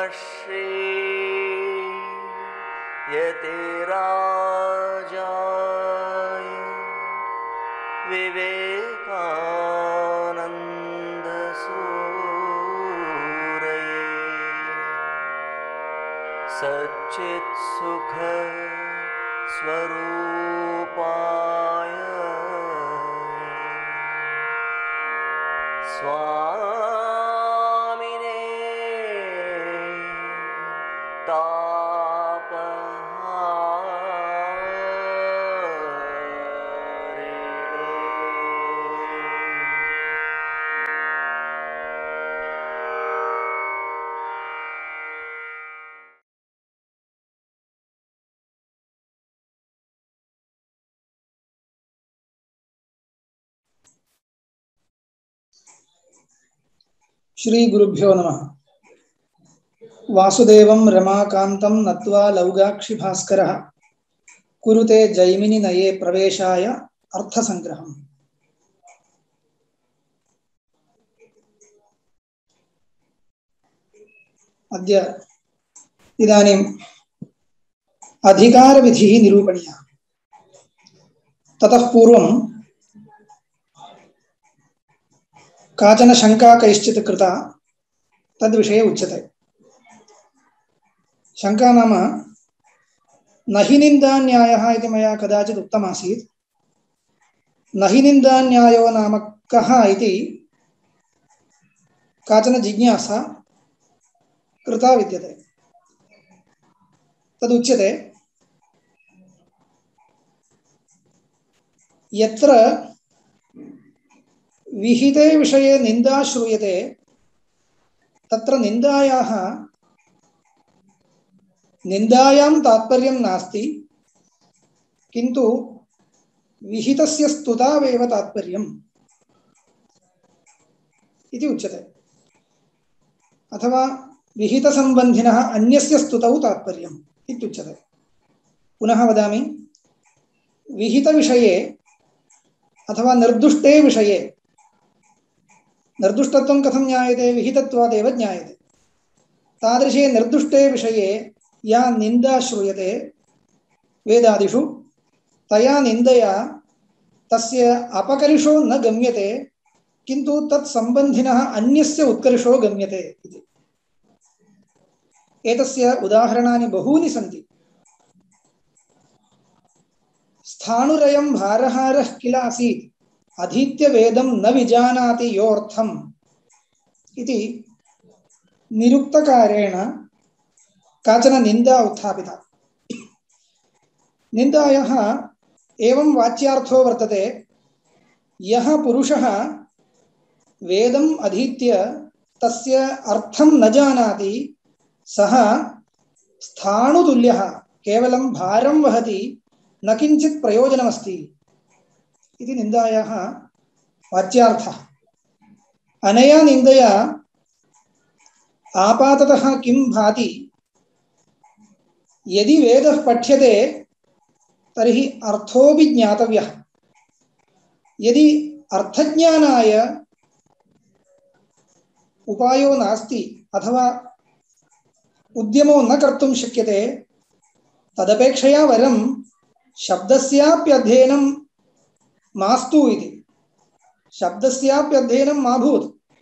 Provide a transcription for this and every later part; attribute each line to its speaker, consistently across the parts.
Speaker 1: यतिराजाय विवेकानन्दसूरये सच्चित्सुख स्वरूपाय स्वामिने
Speaker 2: श्री गुरुभ्यो नमः। वासुदेवं रमाकान्तं नत्वा लौगाक्षि भास्करः कुरुते जैमिनि नये प्रवेशाय अर्थसंग्रहम्। अद्य इदानीम् अधिकारविधिः निरूपणीयः। ततः पूर्वं काचन शंका कैश्चित् कृता, तद्विषये उच्यते। शंका नाम न हि निन्दान्यायः इति मया कदाचित् उक्तमासीत्। न हि निन्दान्यायो नाम कः इति काचन जिज्ञासा कृता विद्यते। तदुच्यते यत्र विहिते विषये निन्दा श्रूयते तत्र निन्दायां तात्पर्यं नास्ति, किन्तु विहितस्य स्तुतावेव तात्पर्यम् इति उच्यते। अथवा विहितसम्बन्धिनः अन्यस्य स्तुतौ तात्पर्यम् इत्युच्यते। पुनः वदामि, विहितविषये अथवा निर्दुष्टे विषये, निर्दुष्टत्वं कथं ज्ञायते? विहितत्वादेव ज्ञायते। तादृशे निर्दुष्टे विषये या निन्दा श्रूयते वेदादिषु, तया निन्दया तस्य अपकर्षो न गम्यते, किन्तु तत्सम्बन्धिनः अन्यस्य उत्कर्षो गम्यते इति। एतस्य उदाहरणानि बहूनि सन्ति। स्थाणुरयं भारहारः किल आसीत् अधीत्य वेदं न विजानाति योऽर्थम् इति निरुक्तकारेण काचन निन्दा उत्थापिता। निन्दायाः एवं वाच्यार्थो वर्तते, यः पुरुषः वेदम् अधीत्य तस्य अर्थं न जानाति सः स्थाणुतुल्यः, केवलं भारं वहति, न किञ्चित् प्रयोजनमस्ति इति निन्दायाः वाच्यार्थः। अनया निन्दया आपाततः किं भाति? यदि वेदः पठ्यते तर्हि अर्थोऽपि ज्ञातव्यः। यदि अर्थज्ञानाय उपायो नास्ति अथवा उद्यमो न कर्तुं शक्यते, तदपेक्षया वरं शब्दस्याप्यध्ययनं मास्तु इति। शब्दस्याप्यध्ययनं मा भूत्।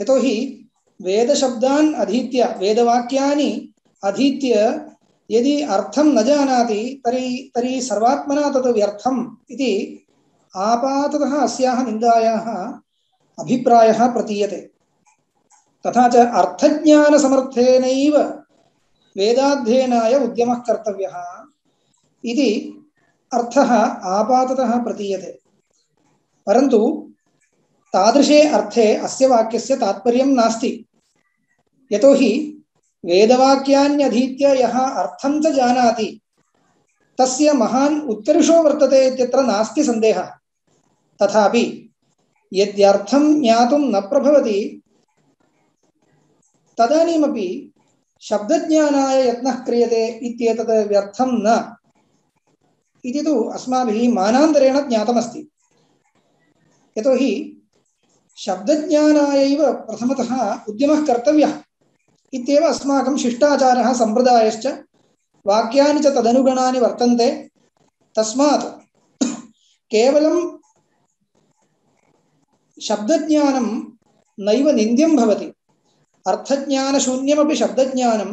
Speaker 2: यतोहि वेदशब्दान् अधीत्य, वेदवाक्यानि अधीत्य यदि अर्थं न जानाति तर्हि सर्वात्मना तत् व्यर्थम् इति आपाततः अस्याः निन्दायाः अभिप्रायः प्रतीयते। तथा च अर्थज्ञानसमर्थेनैव वेदाध्ययनाय उद्यमः कर्तव्यः इति अर्थः आपाततः प्रतीयते। परन्तु तादृशे अर्थे अस्य वाक्यस्य तात्पर्यं नास्ति। यतोहि वेदवाक्यान्यधीत्य यः अर्थं च जानाति तस्य महान् उत्कर्षो वर्तते इत्यत्र नास्ति सन्देहः। तथापि यद्यर्थं ज्ञातुं न प्रभवति तदानीमपि शब्दज्ञानाय यत्नः क्रियते इत्येतत् व्यर्थं न इति तु अस्माभिः मानान्तरेण ज्ञातमस्ति। यतोहि शब्दज्ञानायैव प्रथमतः उद्यमः कर्तव्यः। इत्येव अस्माकं शिष्टाचारः सम्प्रदायश्च वाक्यानि च तदनुगुणानि वर्तन्ते। तस्मात् केवलं शब्दज्ञानं नैव निन्द्यं भवति, अर्थज्ञानशून्यमपि शब्दज्ञानं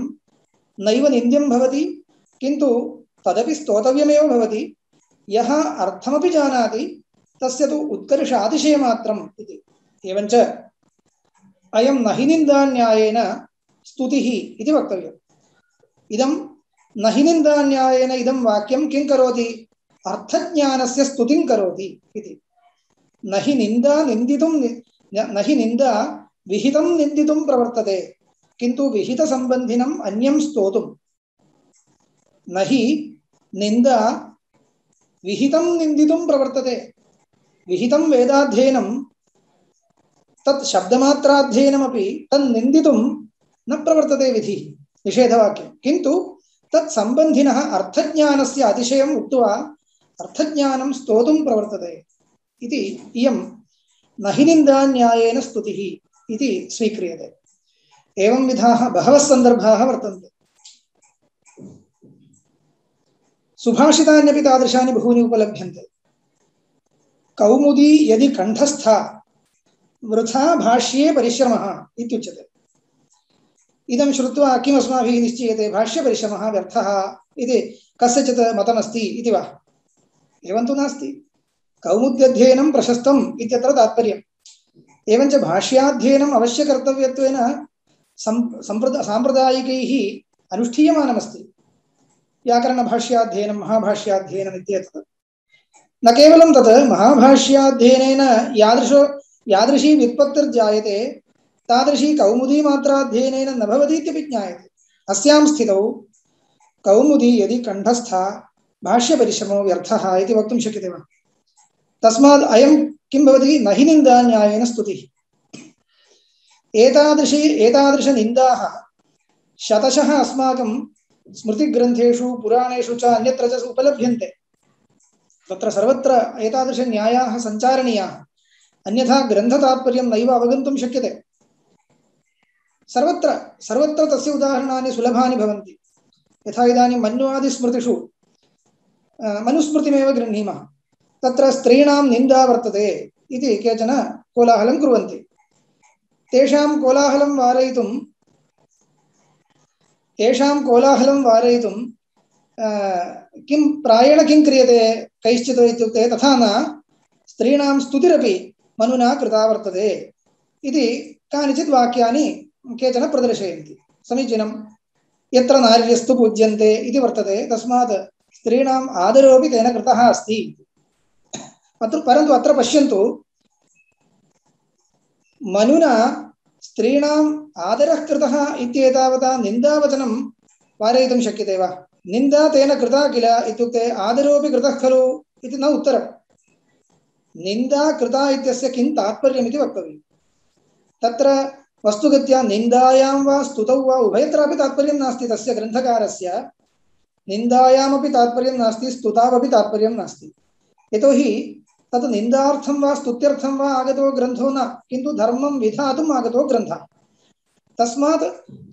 Speaker 2: नैव निन्द्यं भवति, किन्तु तदपि स्तोतव्यमेव भवति। यः अर्थमपि जानाति तस्य तु उत्कर्षातिशयमात्रम् इति। एवञ्च अयं न हि निन्दान्यायेन स्तुतिः इति वक्तव्यम्। इदं न हि निन्दान्यायेन इदं वाक्यं किं करोति? अर्थज्ञानस्य स्तुतिं करोति इति। न हि निन्दा निन्दितुं न हि निन्दा विहितं निन्दितुं प्रवर्तते, किन्तु विहितसम्बन्धिनम् अन्यं स्तोतुं। न हि निन्दा विहितं निन्दितुं प्रवर्तते। विहितं वेदाध्ययनं तत् शब्दमात्राध्ययनमपि तन्निन्दितुं न प्रवर्तते विधिः, निषेधवाक्यं। किन्तु तत् सम्बन्धिनः अर्थज्ञानस्य अतिशयम् उक्त्वा अर्थज्ञानं स्तोतुं प्रवर्तते इति इयं न हि निन्दान्यायेन स्तुतिः इति स्वीक्रियते। एवं विधाः बहवः सन्दर्भाः वर्तन्ते। सुभाषितान्यपि तादृशानि बहूनि उपलभ्यन्ते। कौमुदी यदि कण्ठस्था वृथा भाष्ये परिश्रमः इत्युच्यते। इदं श्रुत्वा किम् अस्माभिः निश्चीयते? भाष्यपरिश्रमः व्यर्थः इति कस्यचित् मतमस्ति इति वा? एवं तु नास्ति। कौमुद्यध्ययनं प्रशस्तम् इत्यत्र तात्पर्यम्। एवञ्च भाष्याध्ययनम् अवश्यकर्तव्यत्वेन साम्प्रदायिकैः अनुष्ठीयमानमस्ति। व्याकरणभाष्याध्ययनं, महाभाष्याध्ययनम् इत्येतत्। न केवलं तत्, महाभाष्याध्ययनेन यादृशी व्युत्पत्तिर्जायते तादृशी कौमुदीमात्राध्ययनेन न भवति इत्यपि ज्ञायते। अस्यां स्थितौ कौमुदी यदि कण्ठस्था भाष्यपरिश्रमो व्यर्थः इति वक्तुं शक्यते वा? तस्मात् अयं किं भवति? न हि निन्दान्यायेन स्तुतिः। एतादृशनिन्दाः शतशः अस्माकं स्मृतिग्रन्थेषु पुराणेषु च अन्यत्र च उपलभ्यन्ते। तत्र सर्वत्र एतादृशन्यायाः सञ्चारणीयाः, अन्यथा ग्रन्थतात्पर्यं नैव अवगन्तुं शक्यते। सर्वत्र तस्य उदाहरणानि सुलभानि भवन्ति। यथा इदानीं मन्वादिस्मृतिषु मनुस्मृतिमेव गृह्णीमः। तत्र स्त्रीणां निन्दा वर्तते इति केचन कोलाहलं कुर्वन्ति। तेषां कोलाहलं वारयितुं किं प्रायेण किं क्रियते कैश्चित् इत्युक्ते, तथा न स्त्रीणां स्तुतिरपि मनुना कृता वर्तते इति कानिचित् वाक्यानि केचन प्रदर्शयन्ति। समीचीनं। यत्र नार्यस्तु पूज्यन्ते इति वर्तते, तस्मात् स्त्रीणाम् आदरोऽपि तेन कृतः अस्ति। परन्तु अत्र पश्यन्तु, मनुना स्त्रीणाम् आदरः कृतः इत्येतावता निन्दावचनं वारयितुं शक्यते वा? निन्दा तेन कृता किल इत्युक्ते आदरोऽपि कृतः खलु इति न उत्तरम्। निन्दा कृता इत्यस्य किं तात्पर्यमिति वक्तव्यम्। तत्र वस्तुगत्या निन्दायां वा स्तुतौ वा उभयत्रापि तात्पर्यं नास्ति। तस्य ग्रन्थकारस्य निन्दायामपि तात्पर्यं नास्ति, स्तुतावपि तात्पर्यं नास्ति। यतोहि तत् निन्दार्थं वा स्तुत्यर्थं वा आगतो ग्रन्थो न, किन्तु धर्मं विधातुम् आगतो ग्रन्थः। तस्मात्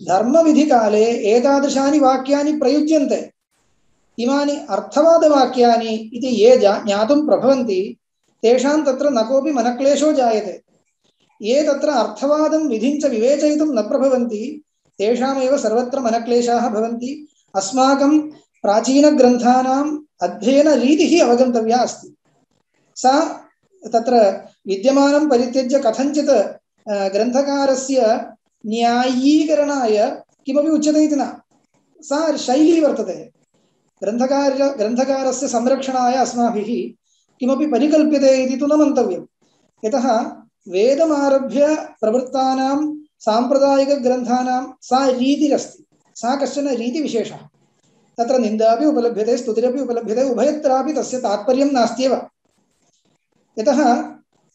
Speaker 2: धर्मविधिकाले एतादृशानि वाक्यानि प्रयुज्यन्ते। इमानि अर्थवादवाक्यानि इति ये ज्ञातुं प्रभवन्ति तेषां तत्र न कोऽपि मनक्लेशो जायते। ये तत्र अर्थवादं विधिञ्च विवेचयितुं न प्रभवन्ति तेषामेव सर्वत्र मनक्लेशाः भवन्ति। अस्माकं प्राचीनग्रन्थानाम् अध्ययनरीतिः अवगन्तव्या अस्ति। सा तत्र विद्यमानं परित्यज्य कथञ्चित् ग्रन्थकारस्य न्यायीकरणाय किमपि उच्यते इति न, सा शैली वर्तते। ग्रन्थकारस्य संरक्षणाय अस्माभिः किमपि परिकल्प्यते इति तु न मन्तव्यम्। यतः वेदमारभ्य प्रवृत्तानां साम्प्रदायिकग्रन्थानां सा रीतिरस्ति, सा कश्चन रीतिविशेषः। तत्र निन्दापि उपलभ्यते, स्तुतिरपि उपलभ्यते, उभयत्रापि तस्य तात्पर्यं नास्त्येव। यतः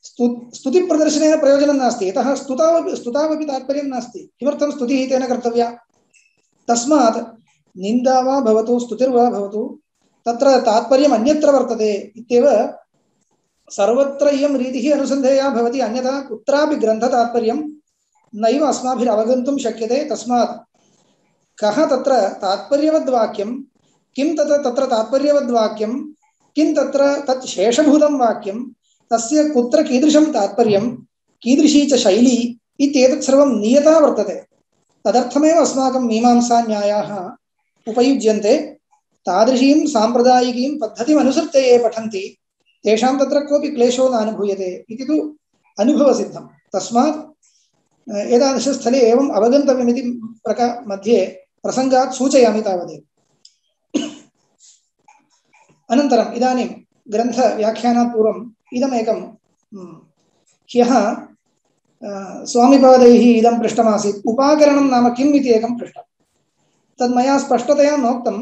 Speaker 2: स्तुतिप्रदर्शनेन प्रयोजनं नास्ति, यतः स्तुतावपि तात्पर्यं नास्ति। किमर्थं स्तुतिः तेन कर्तव्या? तस्मात् निन्दा वा भवतु स्तुतिर्वा भवतु तत्र तात्पर्यम् अन्यत्र वर्तते इत्येव सर्वत्र इयं रीतिः अनुसन्धेया भवति। अन्यथा कुत्रापि ग्रन्थतात्पर्यं नैव अस्माभिरवगन्तुं शक्यते। तस्मात् कः तत्र तात्पर्यवद्वाक्यं, किं तत्र तात्पर्यवद्वाक्यं, किं तत्र तत् शेषभूतं वाक्यं, तस्य कुत्र कीदृशं तात्पर्यं, कीदृशी च शैली इत्येतत् सर्वं नियता वर्तते। तदर्थमेव अस्माकं मीमांसान्यायाः उपयुज्यन्ते। तादृशीं साम्प्रदायिकीं पद्धतिम् अनुसृत्य ये पठन्ति तेषां तत्र कोऽपि क्लेशो न अनुभूयते इति तु अनुभवसिद्धं। तस्मात् एतादृशस्थले एवम् अवगन्तव्यमिति मध्ये प्रसङ्गात् सूचयामि तावदेव। अनन्तरम् इदानीं ग्रन्थव्याख्यानात् पूर्वम् इदमेकं ह्यः स्वामिपादैः इदं पृष्टमासीत्, उपाकरणं नाम किम् इति एकं पृष्टं। तद् मया स्पष्टतया नोक्तं।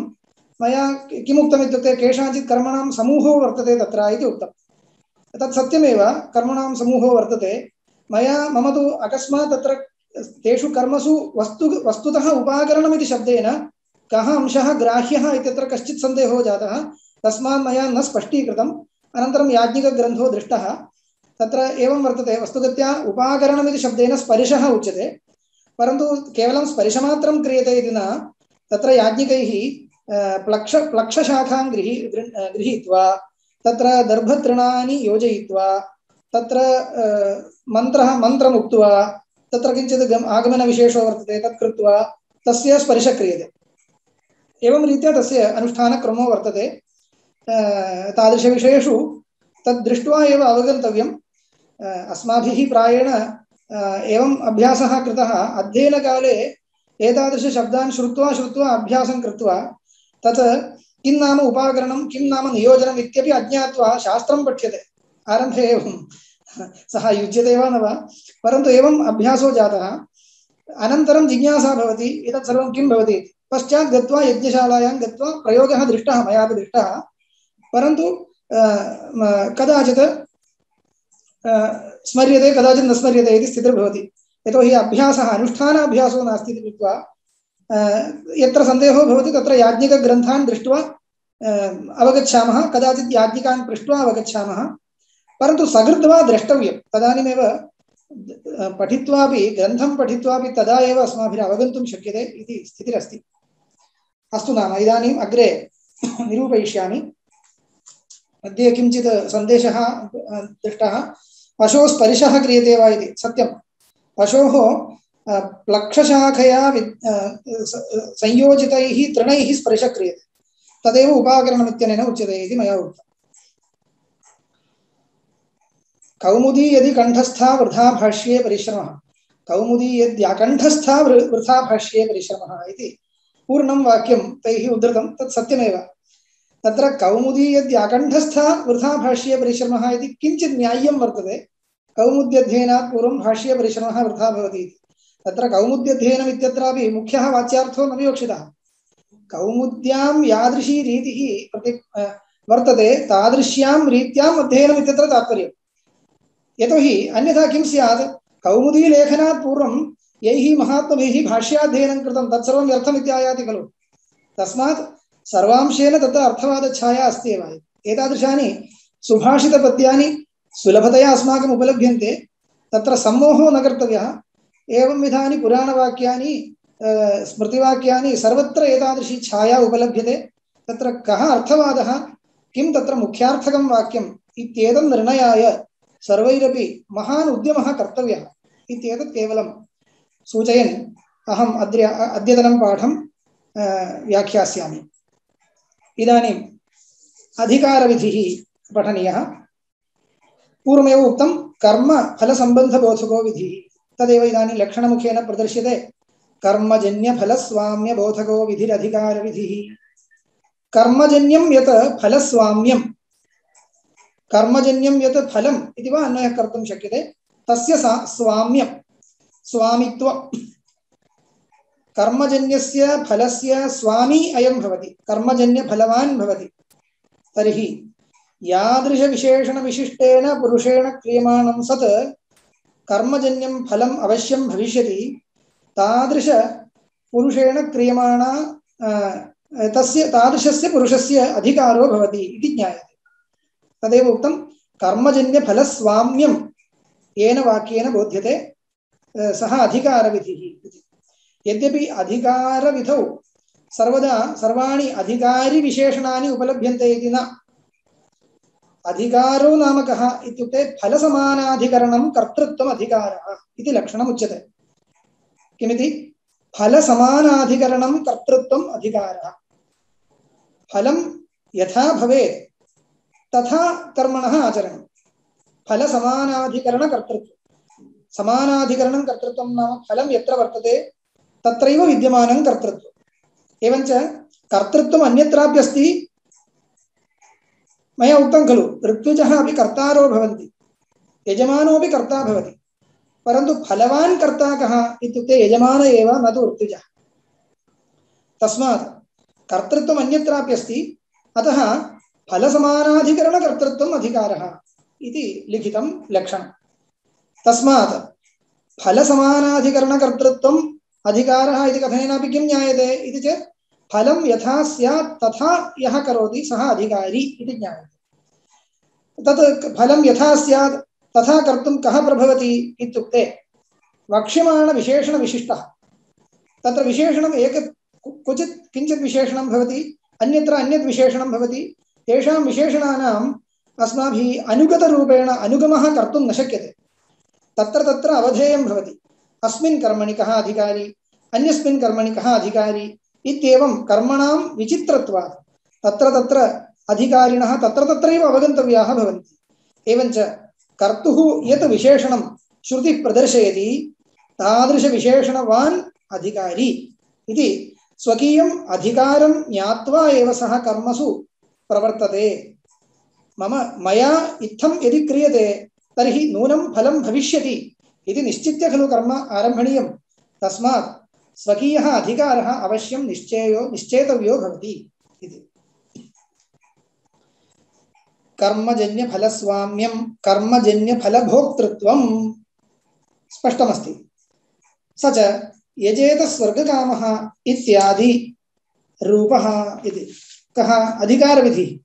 Speaker 2: मया किमुक्तम् इत्युक्ते केषाञ्चित् कर्मणां समूहो वर्तते तत्र इति उक्तं। तत् सत्यमेव, कर्मणां समूहो वर्तते। मम तु अकस्मात् तत्र तेषु कर्मसु वस्तुतः उपाकरणमिति शब्देन कः अंशः ग्राह्यः इत्यत्र कश्चित् सन्देहो जातः। तस्मात् मया न स्पष्टीकृतम्। अनन्तरं याज्ञिकग्रन्थो दृष्टः। तत्र एवं वर्तते, वस्तुगत्या उपाकरणमिति शब्देन स्पर्शः उच्यते, परन्तु केवलं स्पर्शमात्रं क्रियते इति न। तत्र याज्ञिकैः प्लक्षशाखां गृहीत्वा तत्र दर्भतृणानि योजयित्वा तत्र मन्त्रम् उक्त्वा तत्र किञ्चित् आगमनविशेषो वर्तते, तत् कृत्वा तस्य स्पर्शः क्रियते। एवं रीत्या तस्य अनुष्ठानक्रमो वर्तते। तादृशविषयेषु तद् दृष्ट्वा एव अवगन्तव्यम्। अस्माभिः प्रायेण एवं अभ्यासः कृतः। अध्ययनकाले एतादृशशब्दान् श्रुत्वा अभ्यासं कृत्वा तत् किं नाम उपाकरणं, किं नाम नियोजनम् इत्यपि अज्ञात्वा शास्त्रं पठ्यते। आरम्भे एवं सः युज्यते वा न वा, परन्तु एवम् अभ्यासो जातः। अनन्तरं जिज्ञासा भवति, एतत् सर्वं किं भवति। पश्चात् गत्वा यज्ञशालायां गत्वा प्रयोगः दृष्टः, मयापि दृष्टः, परन्तु कदाचित् स्मर्यते, कदाचित् न स्मर्यते इति स्थितिर्भवति। यतोहि अभ्यासः अनुष्ठानाभ्यासो नास्ति इति कृत्वा यत्र सन्देहो भवति तत्र याज्ञिकग्रन्थान् दृष्ट्वा अवगच्छामः, कदाचित् याज्ञिकान् पृष्ट्वा अवगच्छामः, परन्तु सकृत्वा द्रष्टव्यं। तदानीमेव पठित्वापि, ग्रन्थं पठित्वापि तदा एव अस्माभिः अवगन्तुं शक्यते इति स्थितिरस्ति। अस्तु नाम इदानीम् अग्रे निरूपयिष्यामि। मध्ये किञ्चित् सन्देशः दृष्टः, पशोः स्पर्शः क्रियते वा इति। सत्यं, पशोः प्लक्षशाखया संयोजितैः तृणैः स्पर्शः क्रियते, तदेव उपाकरणमित्यनेन उच्यते इति मया उक्तम्। कौमुदी यदि कंठस्था वृथा भाष्ये परिश्रमः, कौमुदी यद्याकण्ठस्था वृथा भाष्ये परिश्रमः इति पूर्णं वाक्यं तैः उद्धृतं। तत् सत्यमेव। तत्र कौमुदी यद्याकण्ठस्था वृथा भाष्ये परिश्रमः इति किञ्चित् न्याय्यं वर्तते। कौमुद्यध्ययनात् पूर्वं भाष्ये परिश्रमः वृथा भवति इति। तत्र कौमुद्यध्ययनम् इत्यत्रापि मुख्यः वाच्यार्थो न विवक्षितः। कौमुद्यां यादृशी रीतिः वर्तते तादृश्यां रीत्याम् अध्ययनम् इत्यत्र तात्पर्यम्। यतोहि अन्यथा किं स्यात्, कौमुदीलेखनात् पूर्वं यैः महात्मभिः भाष्याध्ययनं कृतं तत्सर्वं व्यर्थम् इत्यायाति खलु। तस्मात् सर्वांशेन तत्र अर्थवादच्छाया अस्ति एव। एतादृशानि सुभाषितपद्यानि सुलभतया अस्माकम् उपलभ्यन्ते, तत्र सम्मोहो न कर्तव्यः। एवं विधानि पुराणवाक्यानि स्मृतिवाक्यानि सर्वत्र एतादृशी छाया उपलभ्यते। तत्र कः अर्थवादः, किं तत्र मुख्यार्थकं वाक्यम् इत्येतत् निर्णयाय सर्वैरपि महान् उद्यमः कर्तव्यः इत्येतत् केवलं सूचयन् अहम् अद्यतनं पाठं व्याख्यास्यामि। इदानीम् अधिकारविधिः पठनीयः। पूर्वमेव उक्तं कर्मफलसम्बन्धबोधको विधिः, तदेव इदानीं लक्षणमुखेन प्रदर्श्यते। कर्मजन्यफलस्वाम्यबोधको विधिरधिकारविधिः। कर्मजन्यं यत् फलस्वाम्यं, कर्मजन्यं यत् फलम् इति वा अन्वयः कर्तुं शक्यते, तस्य स्वाम्यं, स्वामित्वं। कर्मजन्यस्य फलस्य स्वामी अयं भवति, कर्मजन्यफलवान् भवति। तर्हि यादृशविशेषणविशिष्टेन पुरुषेण क्रियमाणं सत् कर्मजन्यं फलम् अवश्यं भविष्यति, तादृश पुरुषेण क्रियमाणा तादृशस्य पुरुषस्य अधिकारो भवति इति ज्ञायते। तदेव उक्तं कर्मजन्यफलस्वाम्यं येन वाक्येन बोध्यते। सः अधिकारविधिः इति। यद्यपि अधिकारविधौ सर्वदा सर्वाणि अधिकारिविशेषणानि उपलभ्यन्ते इति न। अधिकारो नाम कः इत्युक्ते फलसमानाधिकरणं कर्तृत्वम् अधिकारः इति लक्षणम् उच्यते। किमिति? फलसमानाधिकरणं कर्तृत्वम् अधिकारः। फलं यथा भवेत् तथा कर्मणः आचरणं। फलसमानाधिकरणकर्तृत्वं। समानाधिकरणं कर्तृत्वं नाम फलं यत्र वर्तते तत्रैव विद्यमानं कर्तृत्वम्। एवञ्च कर्तृत्वम् अन्यत्राप्यस्ति। मया उक्तं खलु, ऋत्विजः अपि कर्तारो भवन्ति, यजमानोऽपि कर्ता भवति, परन्तु फलवान् कर्ता कः इत्युक्ते यजमान एव, न तु ऋत्विजः। तस्मात् कर्तृत्वम् अन्यत्राप्यस्ति, अतः फलसमानाधिकरणकर्तृत्वम् अधिकारः इति लिखितं लक्षणम्। तस्मात् फलसमानाधिकरणकर्तृत्वम् अधिकारः इति कथनेनापि किं ज्ञायते इति चेत् फलं यथा स्यात् तथा यः करोति सः अधिकारी इति ज्ञायते। तत् फलं यथा स्यात् तथा कर्तुं कः प्रभवति इत्युक्ते वक्ष्यमाणविशेषणविशिष्टः। तत्र विशेषणम् एक क्वचित् किञ्चित् विशेषणं भवति, अन्यत्र अन्यत् विशेषणं भवति। तेषां विशेषणानाम् अस्माभिः अनुगतरूपेण अनुगमः कर्तुं न शक्यते। तत्र तत्र अवधेयं भवति, अस्मिन् कर्मणि कः अधिकारी, अन्यस्मिन् कर्मणि कः अधिकारी इत्येवं कर्मणां विचित्रत्वात् तत्र तत्र अधिकारिणः तत्र तत्रैव अवगन्तव्याः भवन्ति। एवञ्च कर्तुः यत् विशेषणं श्रुतिः प्रदर्शयति तादृशविशेषणवान् अधिकारी इति स्वकीयम् अधिकारं ज्ञात्वा एव सः कर्मसु प्रवर्तते। मया इत्थं यदि क्रियते तर्हि नूनं फलं भविष्यति इति निश्चित्य खलु कर्म आरम्भणीयं। तस्मात् स्वकीयः अधिकारः अवश्यं निश्चेतव्यो भवति इति। कर्मजन्यफलस्वाम्यं कर्मजन्यफलभोक्तृत्वं स्पष्टमस्ति। स च यजेत स्वर्गकामः इत्यादि रूपः इति। कः अधिकारविधिः?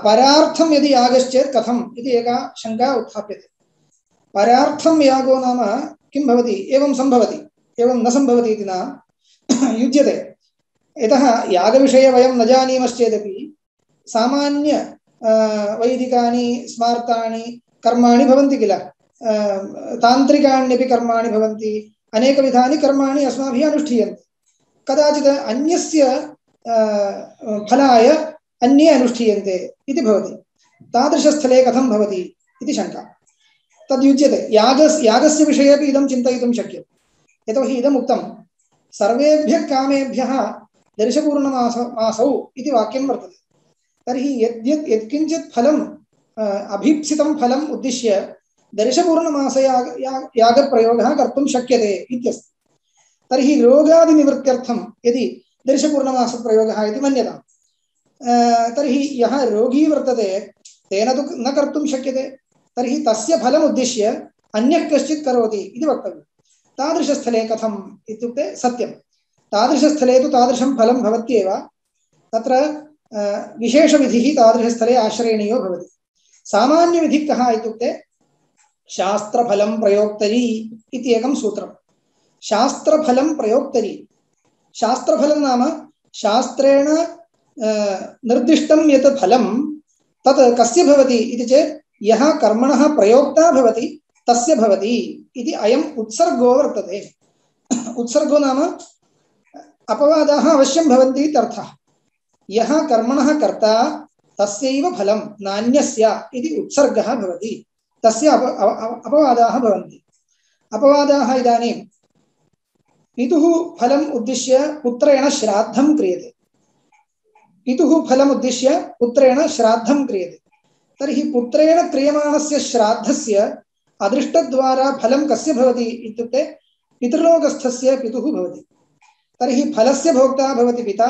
Speaker 2: परार्थं यदि यागश्चेत् कथम् इति एका शङ्का उत्थाप्यते। परार्थं यागो नाम किं भवति? एवं सम्भवति, एवं न सम्भवति इति न युज्यते। यतः यागविषये वयं न जानीमश्चेदपि सामान्य वैदिकानि स्मार्तानि कर्माणि भवन्ति किल, तान्त्रिकाण्यपि कर्माणि भवन्ति, अनेकविधानि कर्माणि अस्माभिः अनुष्ठीयन्ते। कदाचित् अन्यस्य फलाय अन्ये अनुष्ठीयन्ते इति भवति। तादृशस्थले कथं भवति इति शङ्का तद्युज्यते। यागस्य विषये अपि इदं चिन्तयितुं शक्यते। यतोहि इदम् उक्तं सर्वेभ्यः कामेभ्यः दर्शपूर्णमासौ इति वाक्यं वर्तते। तर्हि यत्किञ्चित् फलम् अभीप्सितं फलम् उद्दिश्य दर्शपूर्णमासयागप्रयोगः कर्तुं शक्यते इत्यस्ति। तर्हि रोगादिनिवृत्त्यर्थं यदि दर्शपूर्णमासप्रयोगः इति मन्यताम्, तर्हि यः रोगी वर्तते तेन तु न कर्तुं शक्यते। तर्हि तस्य फलम् उद्दिश्य अन्यः कश्चित् करोति इति वक्तव्यं। तादृशस्थले कथम् इत्युक्ते सत्यं, तादृशस्थले तु तादृशं फलं भवत्येव। तत्र विशेषविधिः तादृशस्थले आश्रयणीयो भवति। सामान्यविधिः कः इत्युक्ते शास्त्रफलं प्रयोक्तरी इति एकं सूत्रं। शास्त्रफलं प्रयोक्तरी, शास्त्रफलं नाम शास्त्रेण निर्दिष्टं यत् फलं तत् कस्य भवति इति चेत् यः कर्मणः प्रयोक्ता भवति तस्य भवति इति अयम् उत्सर्गो वर्तते। उत्सर्गो नाम अपवादाः अवश्यं भवन्ति इत्यर्थः। यः कर्मणः कर्ता तस्यैव फलं नान्यस्य इति उत्सर्गः भवति, तस्य अपवादाः भवन्ति। अपवादाः इदानीं पितुः फलम् उद्दिश्य पुत्रेण श्राद्धं क्रियते। पितुः फलम् उद्दिश्य पुत्रेण श्राद्धं क्रियते। तर्हि पुत्रेण क्रियमाणस्य श्राद्धस्य अदृष्टद्वारा फलं कस्य भवति इत्युक्ते पितृलोकस्थस्य पितुः भवति। तर्हि फलस्य भोक्ता भवति पिता,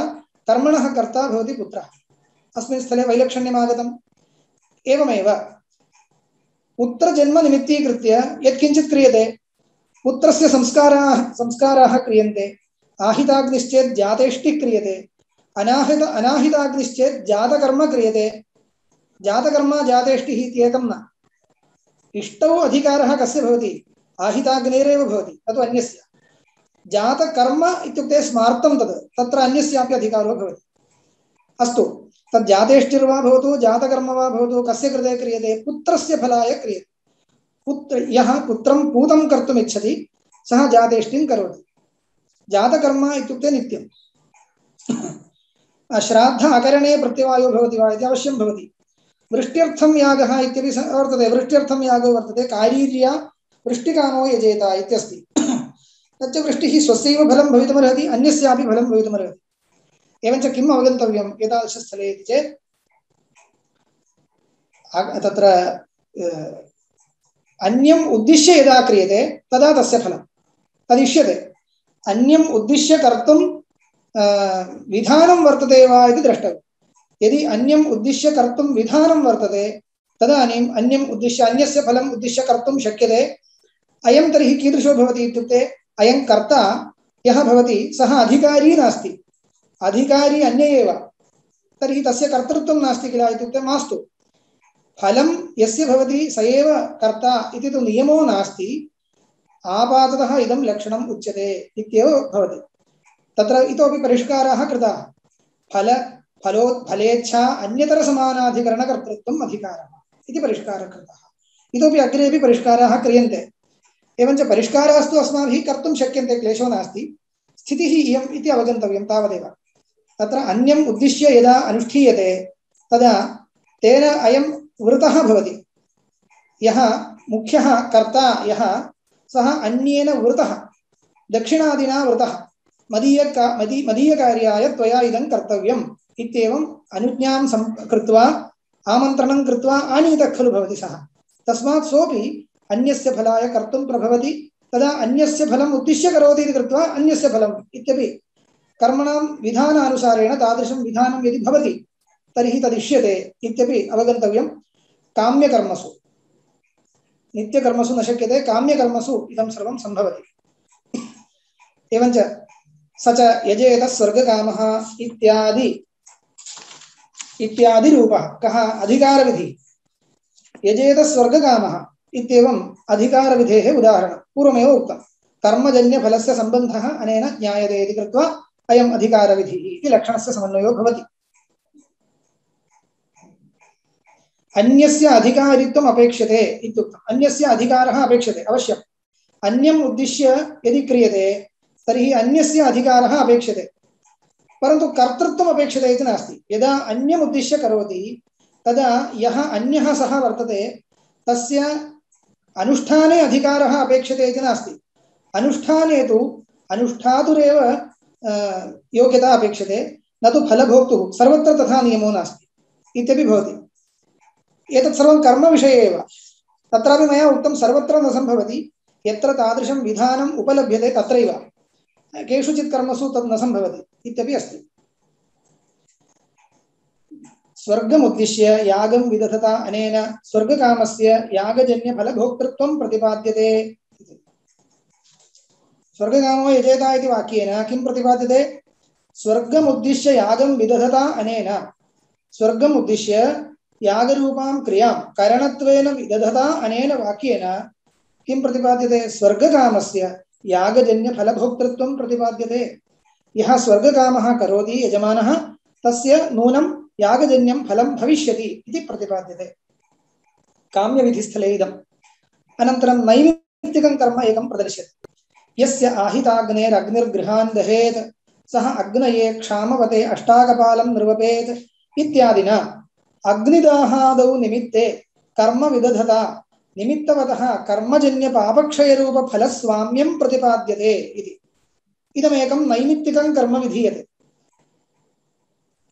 Speaker 2: कर्मणः कर्ता भवति पुत्रः। अस्मिन् स्थले वैलक्षण्यम् आगतम्। एवमेव पुत्रजन्म निमित्तीकृत्य यत्किञ्चित् क्रियते, पुत्रस्य संस्काराः क्रियन्ते। आहिताग्निश्चेत् जातेष्टिः क्रियते, अनाहिताग्निश्चेत् जातकर्म क्रियते। जातकर्म जातेष्टिः इत्येकं न, इष्टौ अधिकारः कस्य भवति आहिताग्नेरेव भवति ततु अन्यस्य जातकर्म इत्युक्ते स्मार्तं तद् तत्र अन्यस्यापि अधिकारो भवति अस्तु तद् जातेष्टिर्वा भवतु जातकर्म वा भवतु कस्य कृते क्रियते पुत्रस्य फलाय क्रियते पुत्र यः पुत्रं पूतं कर्तुम् इच्छति सः जातेष्टिं करोति जातकर्म इत्युक्ते नित्यं श्राद्ध अकरणे प्रत्यवायो भवति वा इति अवश्यं भवति वृष्ट्यर्थं यागः इत्यपि वर्तते वृष्ट्यर्थं यागो वर्तते कारीर्या वृष्टिकामो यजेत इत्यस्ति तच्च वृष्टिः स्वस्यैव फलं भवितुमर्हति अन्यस्यापि फलं भवितुमर्हति एवञ्च किम् अवगन्तव्यम् एतादृशस्थले इति चेत् तत्र अन्यम् उद्दिश्य यदा क्रियते तदा तस्य फलं तदिष्यते अन्यम् उद्दिश्य कर्तुं विधानं वर्तते वा इति द्रष्टव्यम् यदि अन्यम् उद्दिश्य कर्तुं विधानं वर्तते तदानीम् अन्यम् उद्दिश्य अन्यस्य फलम् उद्दिश्य कर्तुं शक्यते अयं तर्हि कीदृशो भवति इत्युक्ते अयं कर्ता यः भवति सः अधिकारी नास्ति अधिकारी अन्य एव तर्हि तस्य कर्तृत्वं नास्ति किल इत्युक्ते मास्तु फलं यस्य भवति स एव कर्ता इति तु नियमो नास्ति आपाततः इदं लक्षणम् उच्यते इत्येव भवति तत्र इतोपि परिष्काराः कृताः फलेच्छा अन्यतरसमानाधिकरणकर्तृत्वम् अधिकारः इति परिष्कारः कृतः इतोपि अग्रेपि परिष्काराः क्रियन्ते एवञ्च परिष्कारास्तु अस्माभिः कर्तुं शक्यन्ते क्लेशो नास्ति स्थितिः इयम् इति अवगन्तव्यं तावदेव तत्र अन्यम् उद्दिश्य यदा अनुष्ठीयते तदा तेन अयं वृतः भवति यः मुख्यः कर्ता यः सः अन्येन वृतः दक्षिणादिना वृतः मदीयकार्याय त्वया इदं कर्तव्यम् इत्येवम् अनुज्ञां कृत्वा आमन्त्रणं कृत्वा आनीतः खलु भवति सः तस्मात् सोऽपि अन्यस्य फलाय कर्तुं प्रभवति तदा अन्यस्य फलम् उद्दिश्य करोति इति कृत्वा अन्यस्य फलम् इत्यपि कर्मणां विधानानुसारेण तादृशं विधानं यदि भवति तर्हि तदिष्यते इत्यपि अवगन्तव्यं काम्यकर्मसु नित्यकर्मसु न शक्यते काम्यकर्मसु इदं सर्वं सम्भवति एवञ्च स च यजेत स्वर्गकामः इत्यादि रूपः कः अधिकारविधि यजेत स्वर्गकामः इत्येवम् अधिकारविधेः उदाहरणं पूर्वमेव उक्तं कर्मजन्यफलस्य सम्बन्धः अनेन ज्ञायते इति कृत्वा अयम् अधिकारविधिः इति लक्षणस्य समन्वयो भवति अन्यस्य अधिकारित्वम् अपेक्षते इत्युक्तम् अन्यस्य अधिकारः अपेक्षते अवश्यम् अन्यम् उद्दिश्य यदि क्रियते तर्हि अन्यस्य अधिकारः अपेक्षते परन्तु कर्तृत्वम् अपेक्षते इति नास्ति यदा अन्यम् उद्दिश्य करोति तदा यः अन्यः सः वर्तते तस्य अनुष्ठाने अधिकारः अपेक्षते इति नास्ति अनुष्ठाने तु अनुष्ठातुरेव योग्यता अपेक्षते न तु फलभोक्तुः सर्वत्र तथा नियमो नास्ति इत्यपि भवति एतत् सर्वं कर्मविषये एव तत्रापि मया उक्तं सर्वत्र न सम्भवति यत्र तादृशं विधानम् उपलभ्यते तत्रैव केषुचित् कर्मसु तत् न सम्भवति इत्यपि अस्ति स्वर्गमुद्दिश्य यागं विदधता अनेन स्वर्गकामस्य यागजन्यफलभोक्तृत्वं प्रतिपाद्यते स्वर्गकामो यजेता इति वाक्येन किं प्रतिपाद्यते स्वर्गमुद्दिश्य यागं विदधता अनेन स्वर्गमुद्दिश्य यागरूपां क्रियां करणत्वेन विदधता अनेन वाक्येन किं प्रतिपाद्यते स्वर्गकामस्य यागजन्यफलभोक्तृत्वं प्रतिपाद्यते यः स्वर्गकामः करोति यजमानः तस्य नूनं यागजन्यं फलं भविष्यति इति प्रतिपाद्यते काम्यविधिस्थले इदम् अनन्तरं नैमित्तिकं कर्म एकं प्रदर्श्यते यस्य आहिताग्नेरग्निर्गृहान् दहेत् सः अग्नये क्षामवते अष्टाकपालं निर्वपेत् इत्यादिना अग्निदाहादौ निमित्ते कर्म विदधता निमित्तवतः कर्मजन्यपापक्षयरूपफलस्वाम्यं प्रतिपाद्यते इति इदमेकं नैमित्तिकं कर्म विधीयते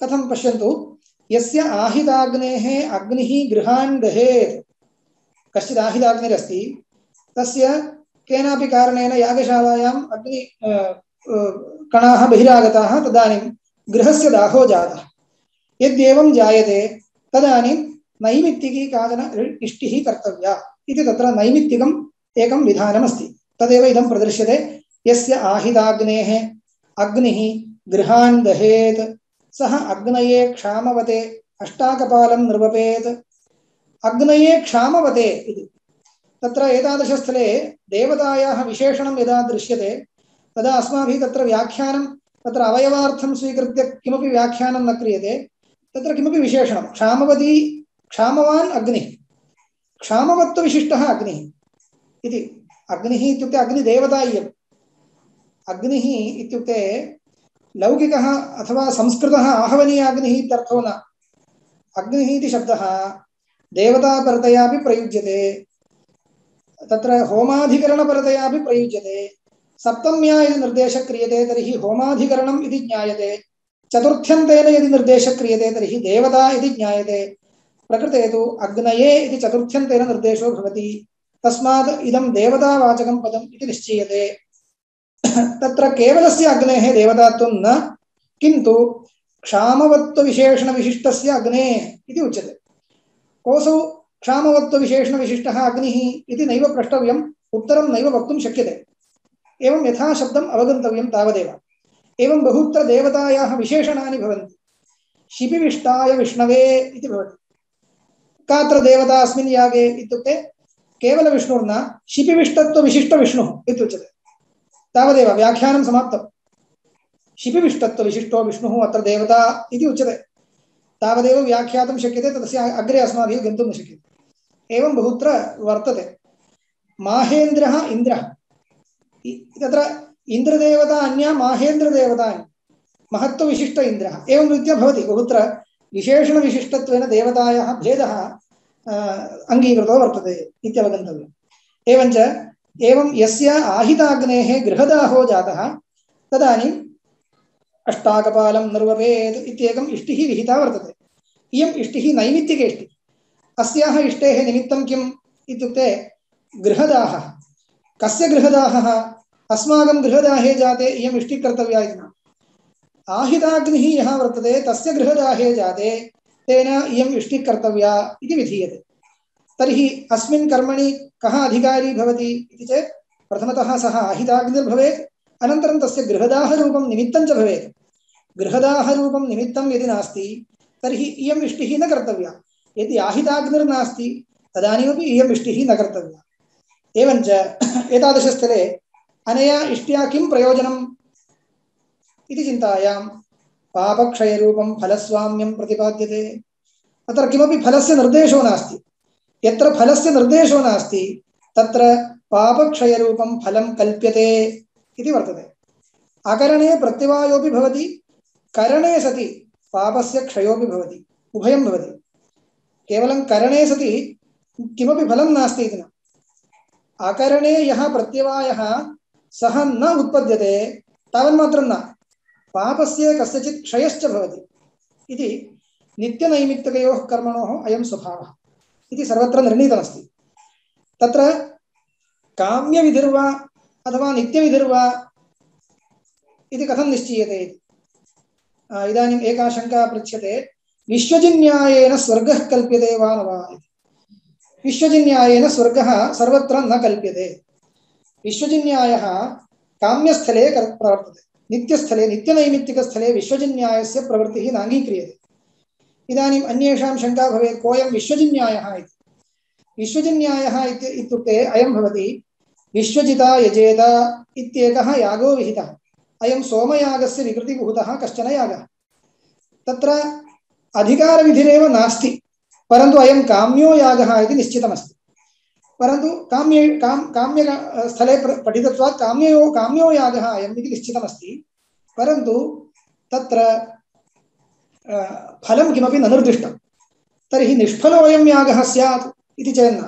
Speaker 2: कथं पश्यन्तु यस्य आहिताग्नेः अग्निः गृहान् दहेत् कश्चित् आहिताग्निरस्ति तस्य केनापि कारणेन यागशालायाम् अग्नि कणाः बहिरागताः तदानीं गृहस्य दाहो जातः यद्येवं जायते तदानीं नैमित्तिकी काचन इष्टिः कर्तव्या इति तत्र नैमित्तिकम् एकं विधानमस्ति तदेव इदं प्रदर्श्यते यस्य आहिताग्नेः अग्निः गृहान् दहेत् सः अग्नये क्षामवते अष्टाकपालं निर्वपेत् अग्नये क्षामवते इति तत्र एतादृशस्थले देवतायाः विशेषणं यदा दृश्यते तदा अस्माभिः तत्र व्याख्यानं तत्र अवयवार्थं स्वीकृत्य किमपि व्याख्यानं न क्रियते। तत्र किमपि विशेषणं क्षामवती क्षामवान् अग्निः क्षामवत्वविशिष्टः अग्निः इति। अग्निः इत्युक्ते अग्निदेवता इयम्। अग्निः इत्युक्ते लौकिकः अथवा संस्कृतः आहवनीयाग्निः इत्यर्थो न। अग्निः इति शब्दः देवतापरतयापि प्रयुज्यते, तत्र होमाधिकरणपरतयापि प्रयुज्यते। सप्तम्या यदि निर्देशः क्रियते तर्हि होमाधिकरणम् इति ज्ञायते। चतुर्थ्यन्तेन यदि निर्देशः क्रियते तर्हि देवता इति ज्ञायते। प्रकृते तु अग्नये इति चतुर्थ्यन्तेन निर्देशो भवति, तस्मात् इदं देवतावाचकं पदम् इति निश्चीयते। तत्र केवलस्य अग्नेः देवतात्वं न, किन्तु क्षामवत्वविशेषणविशिष्टस्य अग्नेः इति उच्यते। कोऽसौ क्षामवत्वविशेषणविशिष्टः अग्निः इति नैव प्रष्टव्यम्, उत्तरं नैव वक्तुं शक्यते। एवं यथा शब्दम् अवगन्तव्यं तावदेव। एवं बहुत्र देवतायाः विशेषणानि भवन्ति। शिपिविष्टाय विष्णवे इति भवति। कात्र देवता अस्मिन् यागे इत्युक्ते केवलविष्णुर्न शिपिविष्टत्वविशिष्टविष्णुः इत्युच्यते। तावदेव व्याख्यानं समाप्तम्। शिपिविष्टत्वविशिष्टो विष्णुः अत्र देवता इति उच्यते। तावदेव व्याख्यातुं शक्यते, तस्य अग्रे अस्माभिः गन्तुं न शक्यते। एवं बहुत्र वर्तते। माहेन्द्रः इन्द्रः, तत्र इन्द्रदेवता अन्या माहेन्द्रदेवता अन्या, महत्वविशिष्ट इन्द्रः, एवं रीत्या भवति। बहुत्र विशेषणविशिष्टत्वेन देवतायाः भेदः अङ्गीकृतो वर्तते इत्यवगन्तव्यम्। एवञ्च एवं यस्य आहिताग्नेः गृहदाहो जातः तदानीम् अष्टाकपालं निर्वपेत् इत्येकम् इष्टिः विहिता वर्तते। इयम् इष्टिः नैमित्तिकी इष्टिः। अस्याः इष्टेः निमित्तं किम् इत्युक्ते गृहदाहः। कस्य गृहदाहः? अस्माकं गृहदाहे जाते इयम् इष्टिः कर्तव्या इति न। आहिताग्निः यः वर्तते तस्य गृहदाहे जाते तेन इयम् इष्टिः कर्तव्या इति विधीयते। तर्हि अस्मिन् कर्मणि कः अधिकारी भवति इति चेत् प्रथमतः सः आहिताग्निर्भवेत्, अनन्तरं तस्य गृहदाहरूपं निमित्तं च भवेत्। गृहदाहरूपं निमित्तं यदि नास्ति तर्हि इयम् इष्टिः न कर्तव्या। यदि आहिताग्निर्नास्ति तदानीमपि इयम् इष्टिः न कर्तव्या। एवञ्च एतादृशस्थले अनया इष्ट्या किं प्रयोजनम् इति चिन्तायां पापक्षयरूपं फलस्वाम्यं प्रतिपाद्यते। अत्र किमपि फलस्य निर्देशो नास्ति। यत्र फलस्य निर्देशो नास्ति तत्र पापक्षयरूपं फलं कल्प्यते इति वर्तते। अकरणे प्रत्यवायोपि भवति, करणे सति पापस्य क्षयोपि भवति, उभयं भवति। केवलं करणे सति किमपि फलं नास्ति इति न। अकरणे यः प्रत्यवायः सः न उत्पद्यते तावन्मात्रं न, पापस्य कस्यचित् क्षयश्च भवति इति नित्यनैमित्तिकयोः कर्मणोः अयं स्वभावः इति सर्वत्र निर्णीतमस्ति। तत्र काम्यविधिर्वा अथवा नित्यविधिर्वा इति कथं निश्चीयते? इदानीम् एका शङ्का पृच्छ्यते, विश्वजिन्यायेन स्वर्गः कल्प्यते वा न वा इति। विश्वजिन्यायेन स्वर्गः सर्वत्र न कल्प्यते। विश्वजिन्यायः काम्यस्थले प्रवर्तते, नित्यस्थले नित्यनैमित्तिकस्थले विश्वजिन्यायस्य प्रवृत्तिः नाङ्गीक्रियते। इदानीम् अन्येषां शङ्का भवेत्, कोऽयं विश्वजिन्यायः इति। विश्वजिन्यायः इत्युक्ते अयं भवति, विश्वजिता यजेत इत्येकः यागो विहितः। अयं सोमयागस्य विकृतिभूतः कश्चन यागः। तत्र अधिकारविधिरेव नास्ति, परन्तु अयं काम्यो यागः इति निश्चितमस्ति। परन्तु काम्यस्थले पठितत्वात् काम्यो यागः अयम् इति निश्चितमस्ति। परन्तु तत्र फलं किमपि न निर्दिष्टं। तर्हि निष्फलोऽयं यागः स्यात् इति चेन्न।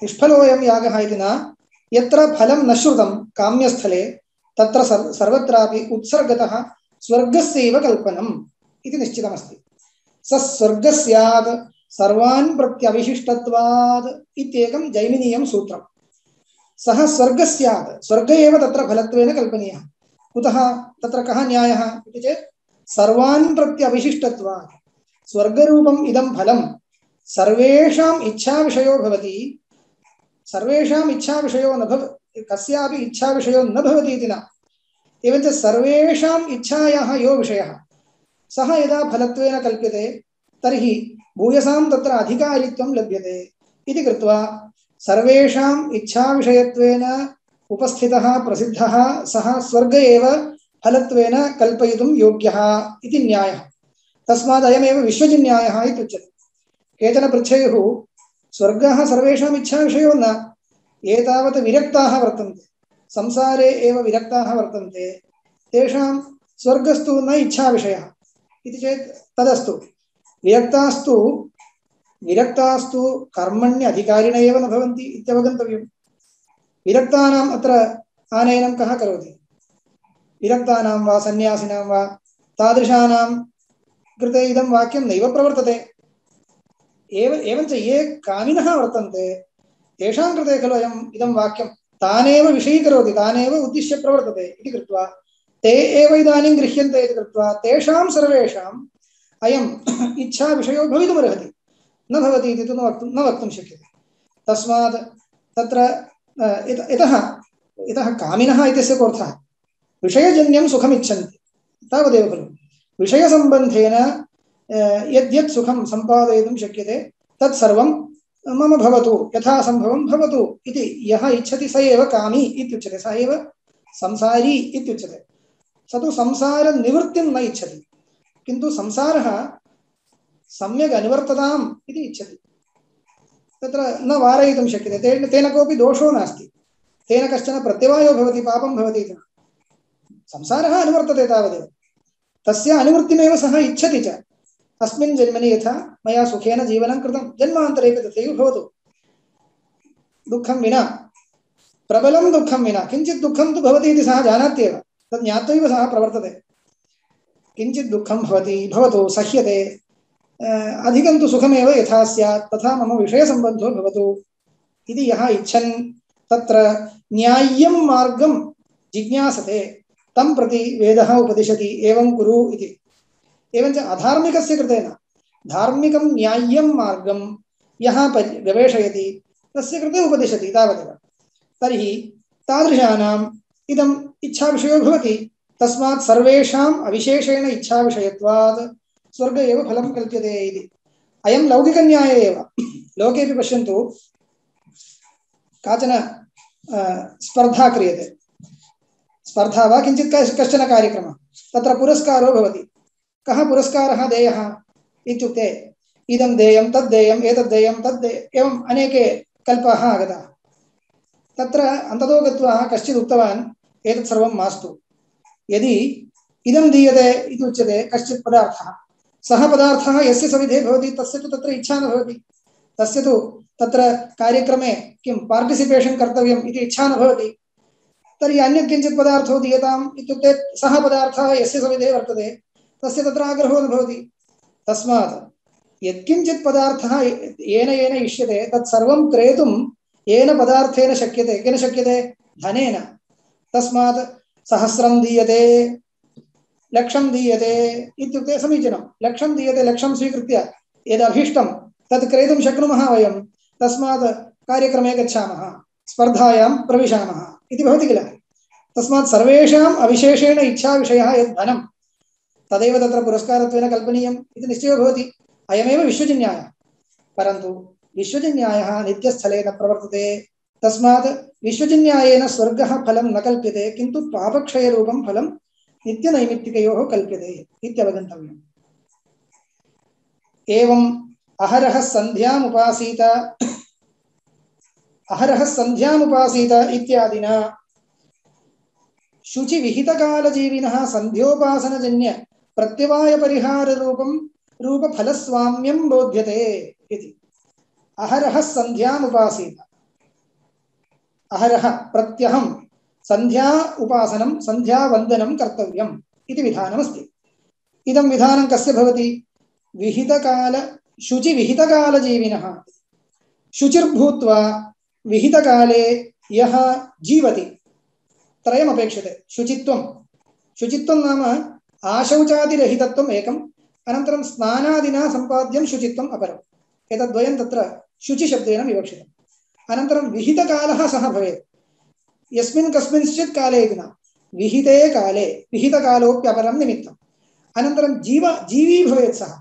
Speaker 2: निष्फलोऽयं यागः इति न, यत्र फलं न श्रुतं काम्यस्थले तत्र सर्वत्रापि उत्सर्गतः स्वर्गस्यैव कल्पनम् इति निश्चितमस्ति। स स्वर्गः स्यात् सर्वान् प्रत्यविशिष्टत्वात् इत्येकं जैमिनीयं सूत्रम्। सः स्वर्गः स्यात्, स्वर्ग एव तत्र फलत्वेन कल्पनीयः। कुतः तत्र कः न्यायः इति चेत् सर्वान् प्रत्यविशिष्टत्वात्। स्वर्गरूपम् इदं फलं सर्वेषाम् इच्छाविषयो भवति, सर्वेषाम् इच्छाविषयो न भवति, कस्यापि इच्छाविषयो न भवति इति न। एवञ्च सर्वेषाम् इच्छायाः यो विषयः सः यदा फलत्वेन कल्प्यते तर्हि भूयसां तत्र अधिकारित्वं लभ्यते इति कृत्वा सर्वेषाम् इच्छाविषयत्वेन उपस्थितः प्रसिद्धः सः स्वर्ग एव फलत्वेन कल्पयितुं योग्यः इति न्यायः। तस्मात् अयमेव विश्वजिन्यायः इति उच्यते। केचन पृच्छेयुः स्वर्गः सर्वेषाम् इच्छाविषयो न, एतावत् विरक्ताः वर्तन्ते, संसारे एव विरक्ताः वर्तन्ते, तेषां स्वर्गस्तु न इच्छाविषयः इति चेत् तदस्तु। विरक्तास्तु कर्मण्य अधिकारिण एव न भवन्ति इत्यवगन्तव्यम्। विरक्तानाम् अत्र आनयनं कः करोति? विरक्तानां वा सन्यासिनां वा तादृशानां कृते इदं वाक्यं नैव प्रवर्तते। एवञ्च ये कामिनः वर्तन्ते तेषां कृते खलु इदं वाक्यं तानेव विषयीकरोति, तानेव उद्दिश्य प्रवर्तते इति कृत्वा ते एव इदानीं गृह्यन्ते इति कृत्वा तेषां सर्वेषाम् अयम् इच्छा विषयो भवितुमर्हति, न भवति इति तु न वक्तुं शक्यते। तस्मात् तत्र इतः कामिनः इत्यस्य कोऽर्थः? विषयजन्यं सुखमिच्छन्ति तावदेव खलु। विषयसम्बन्धेन यद्यत् सुखं सम्पादयितुं शक्यते तत्सर्वं मम भवतु, यथा सम्भवं भवतु इति यः इच्छति स एव कामी इत्युच्यते, स एव संसारी इत्युच्यते। स तु संसारनिवृत्तिं न इच्छति, किन्तु संसारः सम्यक् अनुवर्तताम् इति इच्छति। तत्र न वारयितुं शक्यते, तेन कोऽपि दोषो नास्ति, तेन कश्चन प्रत्यवायो भवति, पापं भवति इति। संसारः अनुवर्तते तावदेव, तस्य अनुवृत्तिमेव सः इच्छति च। अस्मिन् जन्मनि यथा मया सुखेन जीवनं कृतं, जन्मान्तरेपि तथैव भवतु, दुःखं विना, प्रबलं दुःखं विना। किञ्चित् दुःखं तु भवति इति सः जानात्येव, तत् ज्ञात्वैव सः प्रवर्तते। किञ्चित् दुःखं भवतु, सह्यते, अधिकं तु सुखमेव यथा स्यात् तथा मम विषयसम्बन्धो भवतु इति यः इच्छन् तत्र न्याय्यं मार्गं जिज्ञासते तं प्रति वेदः उपदिशति एवं कुरु इति। एवञ्च अधार्मिकस्य कृते न, धार्मिकं न्याय्यं मार्गं यः गवेषयति तस्य कृते उपदिशति तावदेव। तर्हि तादृशानाम् इदम् इच्छाविषयो भवति। तस्मात् सर्वेषाम् अविशेषेण इच्छाविषयत्वात् स्वर्ग एव फलं कल्प्यते इति। अयं लौकिकन्याय एव। लोकेपि पश्यन्तु, काचन स्पर्धा क्रियते, स्पर्धा वा किञ्चित् कश्चन कार्यक्रमः, तत्र पुरस्कारो भवति। कः पुरस्कारः देयः इत्युक्ते इदं देयं तद् देयम् एतद् देयं तद् एवम् अनेके कल्पाः आगताः। तत्र अन्ततो गत्वा कश्चित् उक्तवान् एतत् सर्वं मास्तु, यदि इदं दीयते इति उच्यते कश्चित् पदार्थः, सः पदार्थः यस्य सविधे भवति तस्य तु तत्र इच्छा न भवति, तस्य तु तत्र कार्यक्रमे किं पार्टिसिपेशन् कर्तव्यम् इति इच्छा न भवति। तर्हि अन्यत् किञ्चित् पदार्थो दीयताम् इत्युक्ते सः पदार्थः यस्य सविधे वर्तते तस्य तत्र आग्रहो न भवति। तस्मात् यत्किञ्चित् पदार्थः येन इष्यते तत्सर्वं क्रेतुं येन पदार्थेन शक्यते, केन शक्यते? धनेन। तस्मात् 100 दीयते, 100 दीयते इत्युक्ते समीचीनं। 100 दीयते, 100 स्वीकृत्य यदभीष्टं तत् क्रेतुं शक्नुमः वयं। तस्मात् कार्यक्रमे गच्छामः, स्पर्धायां प्रविशामः इति भवति किल। तस्मात् सर्वेषाम् अविशेषेण इच्छाविषयः यद् धनं तदेव तत्र पुरस्कारत्वेन कल्पनीयम् इति निश्चयो भवति। अयमेव विश्वजिन्यायः। परन्तु विश्वजिन्यायः नित्यस्थले न प्रवर्तते। तस्मात् विश्वजिन्यायेन स्वर्गः फलं न कल्प्यते, किन्तु पापक्षयरूपं फलं नित्यनैमित्तिकयोः कल्प्यते इत्यवगन्तव्यम्। एवम् अहरः सन्ध्यामुपासीत इत्यादिना शुचिविहितकालजीविनः सन्ध्योपासनजन्य प्रत्यवायपरिहाररूपं रूपफलस्वाम्यं बोध्यते इति। अहरः सन्ध्यामुपासीत, अहरः प्रत्यहं सन्ध्या उपासनं सन्ध्यावन्दनं कर्तव्यम् इति विधानमस्ति। इदं विधानं कस्य भवति? शुचिविहितकालजीविनः। शुचिर्भूत्वा विहितकाले यः जीवति, त्रयमपेक्षते। शुचित्वं नाम आशौचादिरहितत्वम् एकम्, अनन्तरं स्नानादिना सम्पाद्यं शुचित्वम् अपरम्। एतद्वयं तत्र शुचिशब्देन विवक्षितम्। अनन्तरं विहितकालः सः भवेत्, यस्मिन् कस्मिंश्चित् काले इति न, विहिते काले, विहितकालोप्यपरं निमित्तम्। अनन्तरं जीवी भवेत्, सः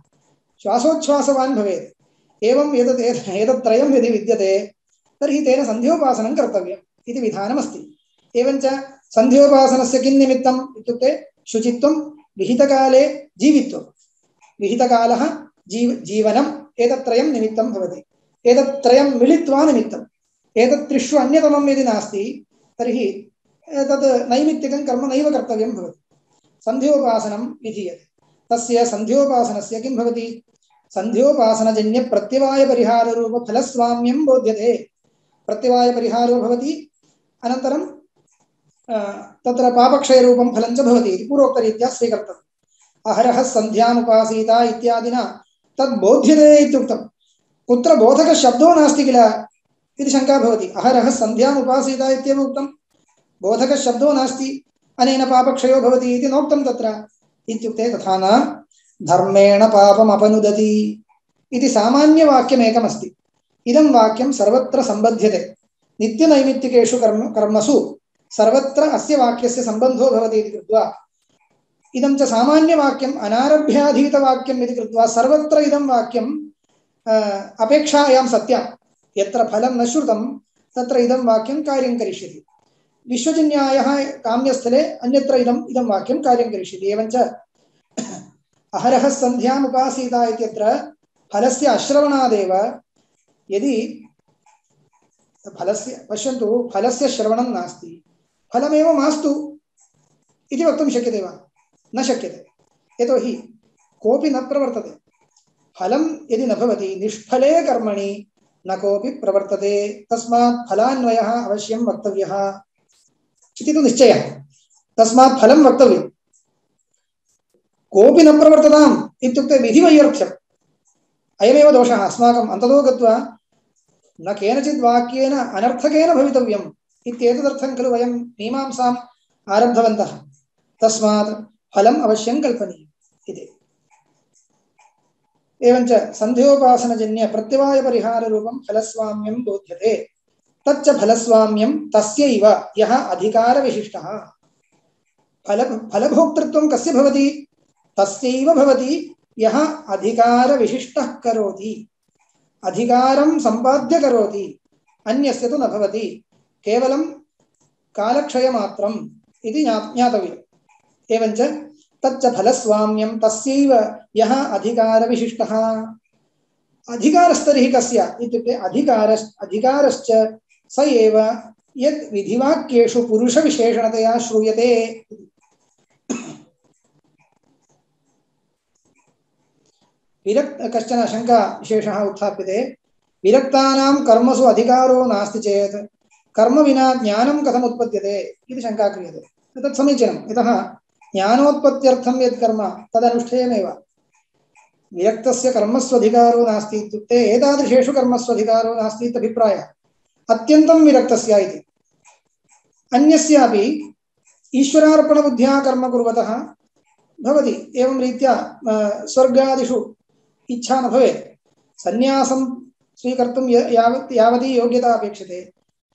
Speaker 2: श्वासोच्छ्वासवान् भवेत्। एवं एतत् त्रयं यदि विद्यते तर्हि तेन सन्ध्योपासनं कर्तव्यम् इति विधानमस्ति। एवञ्च सन्ध्योपासनस्य किं निमित्तम् इत्युक्ते शुचित्वं, विहितकाले जीवित्वं, विहितकालः जीवनम्, एतत्त्रयं निमित्तं भवति। एतत्त्रयं मिलित्वा निमित्तम्। एतत्त्रिषु अन्यतमं यदि नास्ति तर्हि तद् नैमित्तिकं कर्म नैव कर्तव्यं भवति। सन्ध्योपासनं विधीयते। तस्य सन्ध्योपासनस्य किं भवति? सन्ध्योपासनजन्य प्रत्यवायपरिहाररूपफलस्वाम्यं बोध्यते। प्रत्यवायपरिहारो भवति, अनन्तरं तत्र पापक्षयरूपं फलं च भवति इति पूर्वोक्तरीत्या स्वीकर्तव्यम्। अहरः सन्ध्यामुपासीत इत्यादिना तद् बोध्यते इत्युक्तं। कुत्र बोधकशब्दो नास्ति किल इति शङ्का भवति। अहरः सन्ध्यामुपासीत इत्येव उक्तं, बोधकशब्दो नास्ति, अनेन पापक्षयो भवति इति नोक्तं तत्र। इत्युक्ते तथा न, धर्मेण पापमपनुदति इति सामान्यवाक्यमेकमस्ति। इदं वाक्यं सर्वत्र सम्बध्यते। नित्यनैमित्तिकेषु कर्मसु सर्वत्र अस्य वाक्यस्य सम्बन्धो भवति इति कृत्वा इदं च सामान्यवाक्यम् अनारभ्याधीतवाक्यम् इति कृत्वा सर्वत्र इदं वाक्यम् अपेक्षायां सत्या। यत्र फलं न श्रुतं तत्र इदं वाक्यं कार्यं करिष्यति। विश्वजिन्यायः काम्यस्थले अन्यत्र इदं वाक्यं कार्यं करिष्यति। एवञ्च अहरः सन्ध्यामुपासीत इत्यत्र फलस्य अश्रवणादेव, यदि फलस्य पश्यन्तु, फलस्य श्रवणं नास्ति, फलमेव मास्तु इति वक्तुं शक्यते वा? न शक्यते। यतोहि कोऽपि न प्रवर्तते। फलं यदि न भवति, निष्फले कर्मणि न कोऽपि प्रवर्तते। तस्मात् फलान्वयः अवश्यं वक्तव्यः इति तु निश्चयः। तस्मात् फलं वक्तव्यम्। कोऽपि न प्रवर्तताम् इत्युक्ते विधिवैरर्थ्यम्। अयमेव दोषः अस्माकम् अन्ततो गत्वा न केनचित् वाक्येन अनर्थकेन भवितव्यम् इत्येतदर्थं खलु वयं मीमांसाम् आरब्धवन्तः। तस्मात् फलम् अवश्यं कल्पनीयम् इति। एवञ्च सन्ध्योपासनजन्य प्रत्यवायपरिहाररूपं फलस्वाम्यं बोध्यते। तच्च फलस्वाम्यं तस्यैव यः अधिकारविशिष्टः। फलभोक्तृत्वं कस्य भवति? तस्यैव भवति यः अधिकारविशिष्टः करोति, अधिकारं सम्पाद्य करोति। अन्यस्य तु न भवति, केवलं कालक्षयमात्रम् इति ज्ञातव्यम्। एवञ्च तच्च फलस्वाम्यं तस्यैव यः अधिकारविशिष्टः। अधिकारस्तर्हि कस्य इत्युक्ते अधिकारश्च स एव यद् विधिवाक्येषु पुरुषविशेषणतया श्रूयते। कश्चन शङ्का विशेषः उत्थाप्यते। विरक्तानां कर्मसु अधिकारो नास्ति चेत् कर्म विना ज्ञानं कथम् उत्पद्यते इति शङ्का क्रियते। तत् समीचीनं। यतः ज्ञानोत्पत्त्यर्थं यत् कर्म तदनुष्ठेयमेव। विरक्तस्य कर्मस्वधिकारो नास्ति इत्युक्ते एतादृशेषु कर्मस्वधिकारो नास्ति इत्यभिप्रायः। अत्यन्तं विरक्तस्य इति। अन्यस्यापि ईश्वरार्पणबुद्ध्या कर्म कुर्वतः भवति। एवं रीत्या स्वर्गादिषु इच्छा न भवेत्। सन्यासं स्वीकर्तुं यावती योग्यता अपेक्षते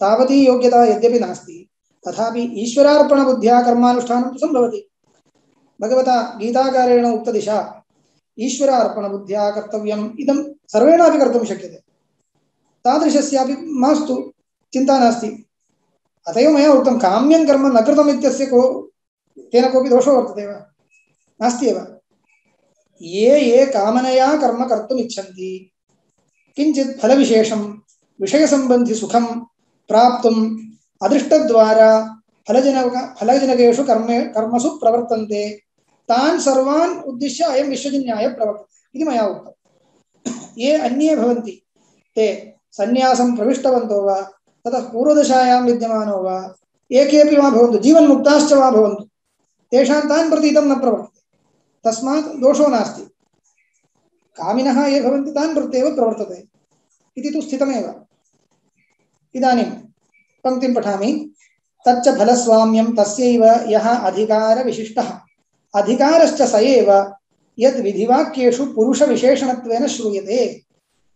Speaker 2: तावती योग्यता यद्यपि नास्ति, तथापि ईश्वरार्पणबुद्ध्या कर्मानुष्ठानं तु सम्भवति। भगवता गीताकारेण उक्तदिशा ईश्वरार्पणबुद्ध्या कर्तव्यम् इदं सर्वेणापि कर्तुं शक्यते। तादृशस्यापि मास्तु, चिन्ता नास्ति। अत एव मया उक्तं काम्यं कर्म न कृतम् इत्यस्य तेन कोऽपि दोषो वर्तते वा? नास्ति एव। ये कामनया कर्म कर्तुम् इच्छन्ति, किञ्चित् फलविशेषं विषयसम्बन्धि सुखं प्राप्तुम् अदृष्टद्वारा फलजनकेषु कर्मसु प्रवर्तन्ते, तान् सर्वान् उद्दिश्य अयं विश्वजिन्यायः प्रवर्तते इति मया उक्तम्। ये अन्ये भवन्ति ते सन्यासं प्रविष्टवन्तो वा ततः पूर्वदशायां विद्यमानो वा ये केऽपि वा भवन्तु, जीवन्मुक्ताश्च वा भवन्तु, तेषां तान् प्रति इदं न प्रवर्तते। तस्मात् दोषो नास्ति। कामिनः ये भवन्ति तान् प्रत्येव प्रवर्तते इति तु स्थितमेव। इदानीं पङ्क्तिं पठामि। तच्च फलस्वाम्यं तस्यैव यः अधिकारविशिष्टः। अधिकारश्च स एव यद् विधिवाक्येषु पुरुषविशेषणत्वेन श्रूयते।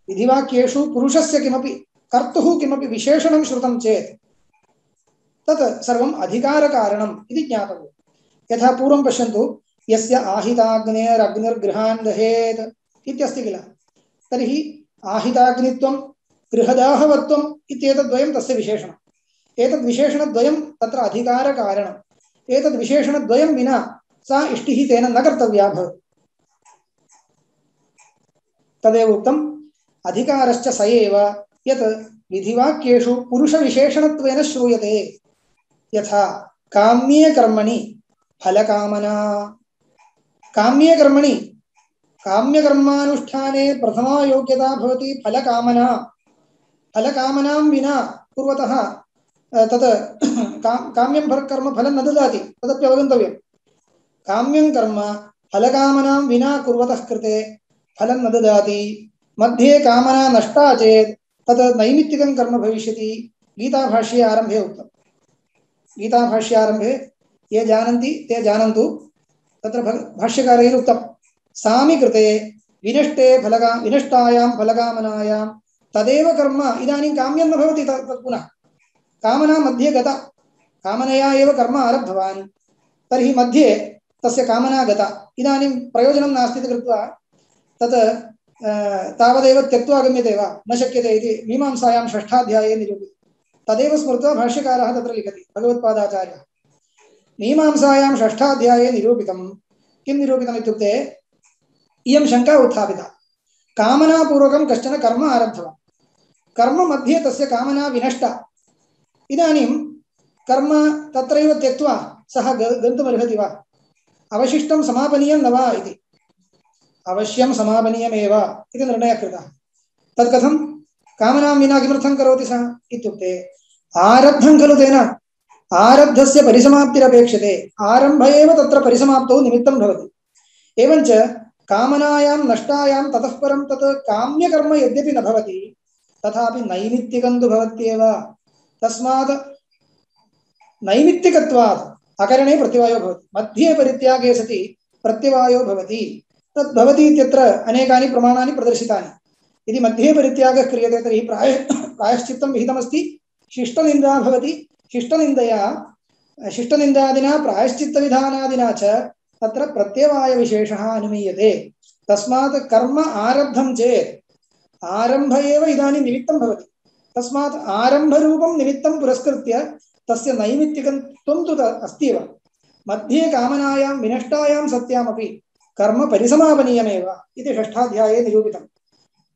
Speaker 2: विधिवाक्येषु पुरुषस्य किमपि कर्तुः किमपि विशेषणं श्रुतं चेत् तत् सर्वम् अधिकारकारणम् इति ज्ञातव्यम्। यथा पूर्वं पश्यन्तु, यस्य आहिताग्नेरग्निर्गृहान् दहेत् इत्यस्ति किल। तर्हि आहिताग्नित्वं गृहदाहवत्वम् इत्येतद्वयं तस्य विशेषणम् एतद्विशेषणद्वयं तत्र अधिकारकारणम् एतद्विशेषणद्वयं विना सा इष्टिः तेन न कर्तव्या भवति तदेव उक्तम् अधिकारश्च स एव यत् विधिवाक्येषु पुरुषविशेषणत्वेन श्रूयते यथा काम्ये कर्मणि फलकामना काम्ये कर्मणि काम्यकर्मानुष्ठाने प्रथमा योग्यता भवति फलकामना फलकामनां विना कुर्वतः तत् काम्यं कर्म फलं न ददाति तदपि अवगन्तव्यं काम्यं कर्म फलकामनां विना कुर्वतः कृते फलं न ददाति मध्ये कामना नष्टा चेत् तत् नैमित्तिकं कर्म भविष्यति गीताभाष्ये आरम्भे उक्तम् गीताभाष्ये आरम्भे ये जानन्ति ते जानन्तु तत्र भाष्यकारैः उक्तं सामि कृते विनष्टायां फलकामनायां तदेव कर्म इदानीं काम्यं न भवति तत् पुनः कामना मध्ये गता कामनया एव कर्म आरब्धवान् तर्हि मध्ये तस्य कामना गता इदानीं प्रयोजनं नास्ति इति कृत्वा तत् तावदेव त्यक्त्वा गम्यते वा न शक्यते इति मीमांसायां षष्ठाध्याये निरूपितं तदेव स्मृत्वा भाष्यकारः तत्र लिखति भगवत्पादाचार्यः मीमांसायां षष्ठाध्याये निरूपितं किं निरूपितम् इत्युक्ते इयं शङ्का उत्थापिता कामनापूर्वकं कश्चन कर्म आरब्धवान् कर्म मध्ये तस्य कामना विनष्टा इदानीं कर्म तत्रैव त्यक्त्वा सः गन्तुमर्हति वा अवशिष्टं समापनीयं न वा इति अवश्यं समापनीयमेव इति निर्णयः कृतः तत् कथं कामनां विना किमर्थं करोति सः इत्युक्ते आरब्धं खलु तेन आरब्धस्य परिसमाप्तिरपेक्षते आरम्भ एव तत्र परिसमाप्तौ निमित्तं भवति एवञ्च कामनायां नष्टायां ततः परं तत् काम्यकर्म यद्यपि न भवति तथापि नैमित्तिकं तु भवत्येव तस्मात् नैमित्तिकत्वात् अकरणे प्रत्यवायो भवति मध्ये परित्यागे सति प्रत्यवायो भवति तद् भवति इत्यत्र अनेकानि प्रमाणानि प्रदर्शितानि यदि मध्ये परित्यागः क्रियते तर्हि प्रायश्चित्तं विहितमस्ति शिष्टनिन्दा भवति शिष्टनिन्दादिना प्रायश्चित्तविधानादिना च तत्र प्रत्यवायविशेषः अनुमीयते तस्मात् कर्म आरब्धं चेत् आरम्भ एव इदानीं निमित्तं भवति तस्मात् आरम्भरूपं निमित्तं पुरस्कृत्य तस्य नैमित्तिकत्वं तु अस्ति एव मध्ये कामनायां विनष्टायां सत्यामपि कर्म परिसमापनीयमेव इति षष्ठाध्याये निरूपितम्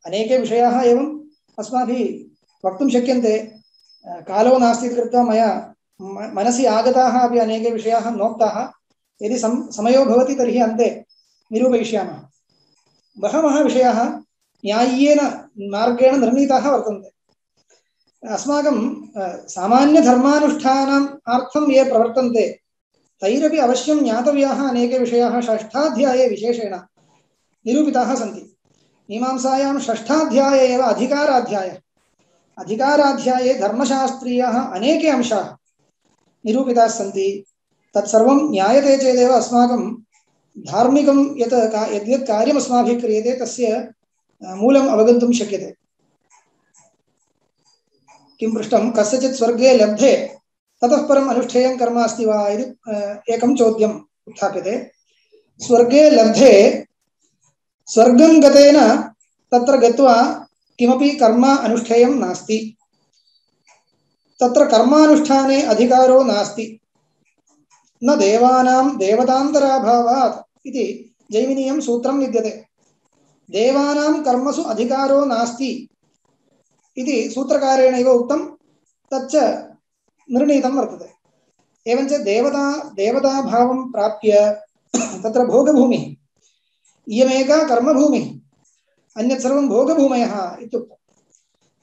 Speaker 2: अनेके विषयाः एवम् अस्माभिः वक्तुं शक्यन्ते कालो नास्ति इति कृत्वा मया मनसि आगताः अपि अनेके विषयाः नोक्ताः यदि समयो भवति तर्हि अन्ते निरूपयिष्यामः बहवः विषयाः न्याय्येन मार्गेण निर्णीताः वर्तन्ते अस्माकं सामान्यधर्मानुष्ठानाम् अर्थं ये प्रवर्तन्ते तैरपि अवश्यं ज्ञातव्याः अनेके विषयाः षष्ठाध्याये विशेषेण निरूपिताः सन्ति मीमांसायां षष्ठाध्याये एव अधिकाराध्याये धर्मशास्त्रीयाः अनेके अंशाः निरूपिताः सन्ति तत्सर्वं ज्ञायते चेदेव अस्माकं धार्मिकं यद्यत् कार्यम् अस्माभिः क्रियते तस्य मूलम् अवगन्तुं शक्यते किं पृष्टं कस्यचित् स्वर्गे लब्धे ततः परम् अनुष्ठेयं कर्म अस्ति वा इति एकं चोद्यम् उत्थाप्यते स्वर्गे लब्धे स्वर्गं गतेन तत्र गत्वा किमपि कर्म अनुष्ठेयं नास्ति तत्र कर्मानुष्ठाने अधिकारो नास्ति न देवानां देवतान्तराभावात् इति जैमिनीयं सूत्रं विद्यते देवानां कर्मसु अधिकारो नास्ति इति सूत्रकारेणैव उक्तं तच्च निर्णीतं वर्तते एवञ्च देवताभावं प्राप्य तत्र भोगभूमिः इयमेका कर्मभूमिः अन्यत् सर्वं भोगभूमयः इत्युक्तं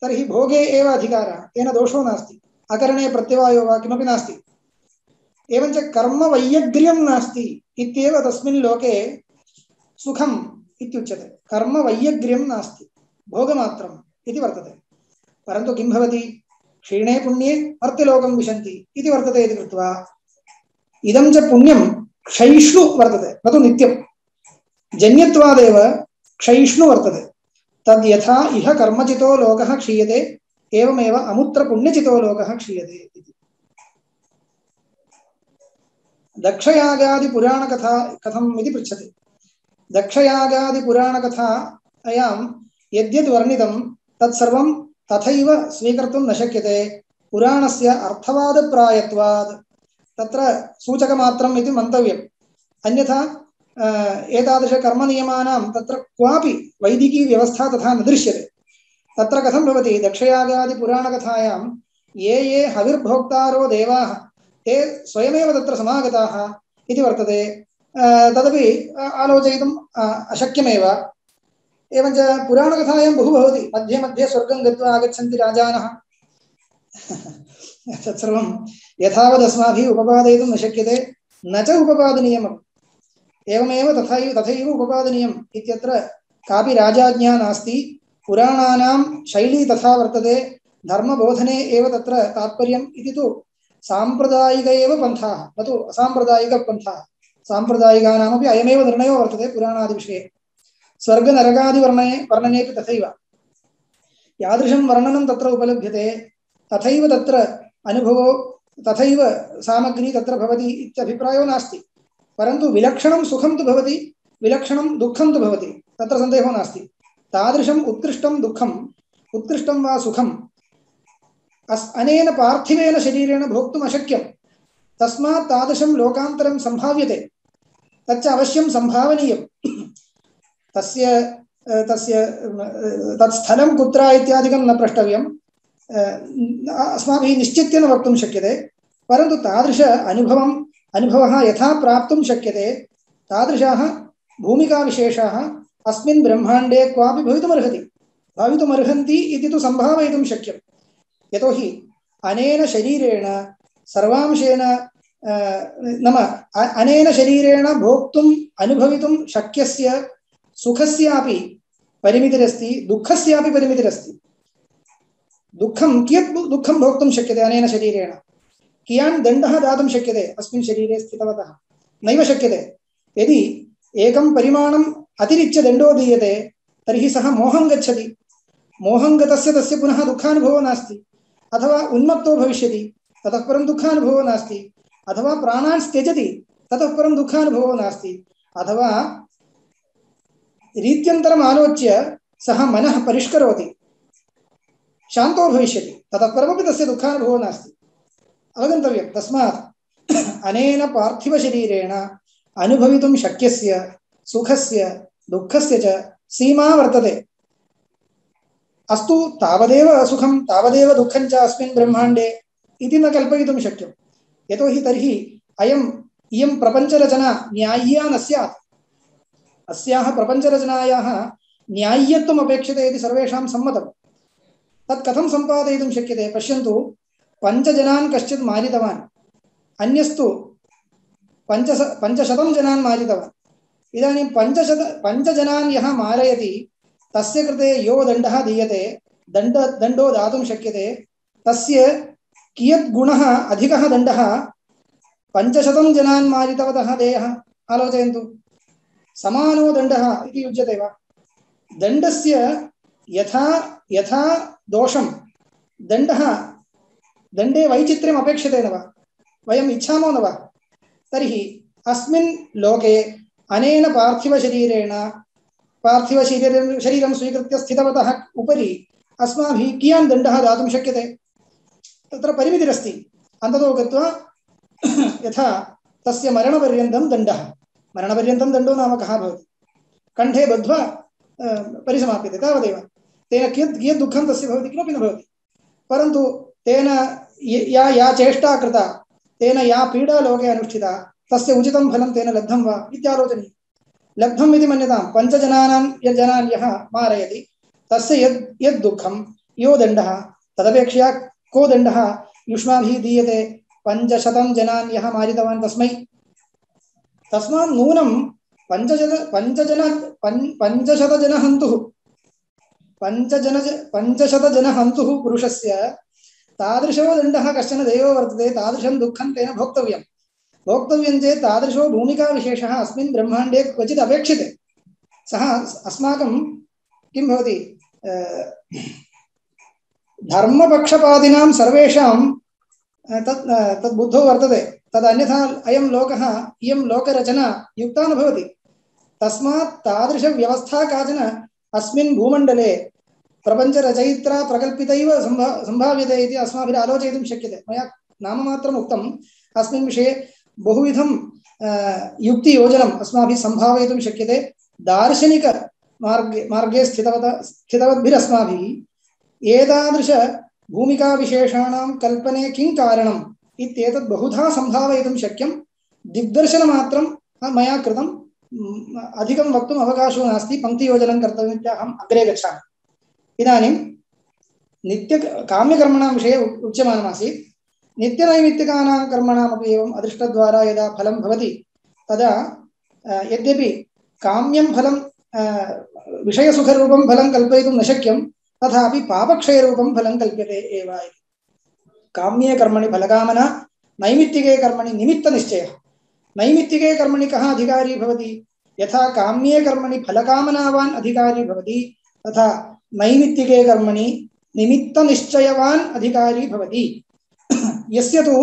Speaker 2: तर्हि भोगे एव अधिकारः तेन दोषो नास्ति अकरणे प्रत्यवायो वा किमपि नास्ति एवञ्च कर्मवैयग्र्यं नास्ति इत्येव तस्मिन् लोके सुखम् इत्युच्यते कर्मवैयग्र्यं नास्ति भोगमात्रम् इति वर्तते परन्तु किं भवति क्षीणे पुण्ये मर्त्यलोकं विशन्ति इति वर्तते इति कृत्वा इदं च पुण्यं क्षयिष्णु वर्तते न तु नित्यं जन्यत्वादेव क्षयिष्णु वर्तते तद् यथा इह कर्मचितो लोकः क्षीयते एवमेव अमुत्र पुण्यचितो लोकः क्षीयते इति दक्षयागादिपुराणकथा कथम् इति पृच्छति दक्षयागादिपुराणकथायां यद्यद् वर्णितं तत्सर्वं तथैव स्वीकर्तुं न शक्यते पुराणस्य अर्थवादप्रायत्वात् तत्र सूचकमात्रम् इति मन्तव्यम् अन्यथा एतादृशकर्मनियमानां तत्र क्वापि वैदिकी व्यवस्था तथा न दृश्यते तत्र कथं भवति दक्षयागादिपुराणकथायां ये हविर्भोक्तारो देवाः ते स्वयमेव तत्र समागताः इति वर्तते तदपि आलोचयितुम् अशक्यमेव एवञ्च पुराणकथायां बहु भवति मध्ये मध्ये स्वर्गं गत्वा आगच्छन्ति राजानः तत्सर्वं यथावत् अस्माभिः उपपादयितुं न शक्यते न च उपपादनीयम् एवमेव तथैव उपपादनीयम् इत्यत्र कापि राजाज्ञा नास्ति पुराणानां शैली तथा वर्तते धर्मबोधने एव तत्र तात्पर्यम् इति तु साम्प्रदायिक एव पन्थाः न तु असाम्प्रदायिकपन्थाः साम्प्रदायिकानामपि अयमेव निर्णयो वर्तते पुराणादिविषये स्वर्गनरकादिवर्णनेपि तथैव यादृशं वर्णनं तत्र उपलभ्यते तथैव तत्र अनुभवो तथैव सामग्री तत्र भवति इत्यभिप्रायो नास्ति परन्तु विलक्षणं सुखं तु भवति विलक्षणं दुःखं तु भवति तत्र सन्देहो नास्ति तादृशम् उत्कृष्टं दुःखम् उत्कृष्टं वा सुखम् अनेन पार्थिवेन शरीरेण भोक्तुम् अशक्यं तस्मात् तादृशं लोकान्तरं सम्भाव्यते तच्च अवश्यं सम्भावनीयं तस्य तत्स्थलं कुत्र इत्यादिकं न प्रष्टव्यम् अस्माभिः निश्चित्य न वक्तुं शक्यते परन्तु तादृश अनुभवः यथा प्राप्तुं शक्यते तादृशाः भूमिकाविशेषाः अस्मिन् ब्रह्माण्डे क्वापि भवितुमर्हन्ति इति तु सम्भावयितुं शक्यं यतोहि अनेन शरीरेण सर्वांशेन नाम अनेन शरीरेण भोक्तुम् अनुभवितुं शक्यस्य सुखस्यापि परिमितिरस्ति दुःखस्यापि परिमितिरस्ति दुःखं कियत् दुःखं भोक्तुं शक्यते अनेन शरीरेण कियान् दण्डः दातुं शक्यते अस्मिन् शरीरे स्थितवतः नैव शक्यते यदि एकं परिमाणम् अतिरिच्य दण्डो दीयते तर्हि सः मोहं गच्छति मोहं गतस्य तस्य पुनः दुःखानुभवो नास्ति अथवा उन्मत्तो भविष्यति ततः परं दुःखानुभवो नास्ति अथवा प्राणान् त्यजति ततः परं दुःखानुभवो नास्ति अथवा रीत्यन्तरम् आलोच्य सः मनः परिष्करोति शान्तो भविष्यति ततः परमपि तस्य दुःखानुभवो नास्ति अवगन्तव्यं तस्मात् अनेन पार्थिवशरीरेण अनुभवितुं शक्यस्य सुखस्य दुःखस्य च सीमा वर्तते अस्तु तावदेव सुखं तावदेव दुःखं च अस्मिन् ब्रह्माण्डे इति न कल्पयितुं शक्यं यतोहि तर्हि इयं प्रपञ्चरचना न्याय्या न स्यात् अस्याः प्रपञ्चरचनायाः न्याय्यत्वम् अपेक्षते इति सर्वेषां सम्मतं तत् कथं सम्पादयितुं शक्यते पश्यन्तु पञ्चजनान् कश्चित् मारितवान् अन्यस्तु 500 जनान् मारितवान् इदानीं 500 जनान् यः मारयति तस्य कृते यो दण्डः दीयते दण्डो दातुं शक्यते तस्य कियत् गुणः अधिकः दण्डः 500 जनान् मारितवतः देयः आलोचयन्तु समानो दण्डः इति युज्यते वा दण्डस्य यथा दोषं दण्डे वैचित्र्यम् अपेक्षते न वा वयम् इच्छामो न वा तर्हि अस्मिन् लोके अनेन पार्थिवशरीरं स्वीकृत्य स्थितवतः उपरि अस्माभिः कियान् दण्डः दातुं शक्यते तत्र परिमितिरस्ति अन्ततो गत्वा यथा तस्य मरणपर्यन्तं दण्डः मरणपर्यन्तं दण्डो नाम कः भवति कण्ठे बद्ध्वा परिसमाप्यते तावदेव तेन कियत् दुःखं तस्य भवति किमपि न भवति परन्तु तेन या चेष्टा कृता तेन या पीडा लोके अनुष्ठिता तस्य उचितं फलं तेन लब्धं वा इत्यालोचनीयं लब्धम् इति मन्यतां 5 जनान् यः मारयति तस्य यद् दुःखं यो दण्डः तदपेक्षया को दण्डः युष्माभिः दीयते 500 जनान् यः मारितवान् तस्मै तस्मात् नूनं 500 जनहन्तुः पुरुषस्य तादृशो दण्डः कश्चन देयो वर्तते तादृशं दुःखं तेन भोक्तव्यं चेत् तादृशो भूमिकाविशेषः अस्मिन् ब्रह्माण्डे क्वचित् अपेक्षते सः अस्माकं किं भवति धर्मपक्षपादिनां सर्वेषां तद् बुद्धौ वर्तते तदन्यथा अयं लोकः इयं लोकरचना युक्ता न भवति तस्मात् तादृशव्यवस्था काचन अस्मिन् भूमण्डले प्रपञ्चरचयित्रा प्रकल्पितैव सम्भाव्यते इति अस्माभिः आलोचयितुं शक्यते। मया नाममात्रम् उक्तम्। अस्मिन् विषये बहुविधं युक्तियोजनम् अस्माभिः सम्भावयितुं शक्यते। दार्शनिक मार्गे स्थितवद्भिरस्माभिः एतादृश भूमिकाविशेषाणां कल्पने किं कारणम् इत्येतत् बहुधा सम्भावयितुं शक्यं। दिग्दर्शनमात्रं मया कृतम्। अधिकं वक्तुम् अवकाशो नास्ति। पङ्क्तियोजनं कर्तव्यम्। अग्रे गच्छामि। इदानीं काम्यकर्मणां विषये उच्यमानमासीत्। नित्यनैमित्तिकानां कर्मणामपि एवम् अदृष्टद्वारा यदा फलं भवति तदा यद्यपि काम्यं फलं विषयसुखरूपं फलं कल्पयितुं न शक्यं, तथापि पापक्षयरूपं फलं कल्प्यते एव। काम्ये कर्मणि फलकामना, नैमित्तिके कर्मणि निमित्तनिश्चयः। नैमित्तिके कर्मणि कः अधिकारी भवति? यथा काम्ये कर्मणि फलकामनावान् अधिकारी भवति, तथा नैमित्तिके कर्मणि निमित्तनिश्चयवान् अधिकारी भवति। यस्य तु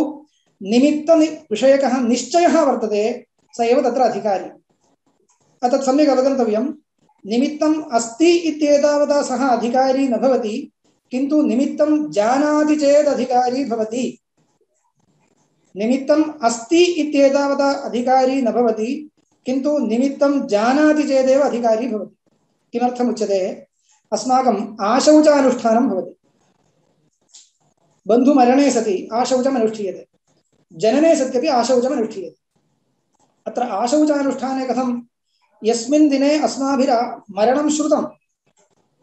Speaker 2: निमित्तविषयकः निश्चयः वर्तते स एव तत्र अधिकारी। तत् सम्यक् अवगन्तव्यं। निमित्तम् अस्ति इत्येतावता सः अधिकारी न भवति, किन्तु निमित्तं जानाति चेत् अधिकारी भवति। निमित्तम् अस्ति इत्येतावता अधिकारी न भवति, किन्तु निमित्तं जानाति चेदेव अधिकारी भवति। किमर्थमुच्यते? अस्माकम् आशौचानुष्ठानं भवति। बन्धुमरणे सति आशौचम् अनुष्ठीयते, जनने सत्यपि आशौचम् अनुष्ठीयते। अत्र आशौचानुष्ठाने कथं? यस्मिन् दिने अस्माभिः मरणं श्रुतं,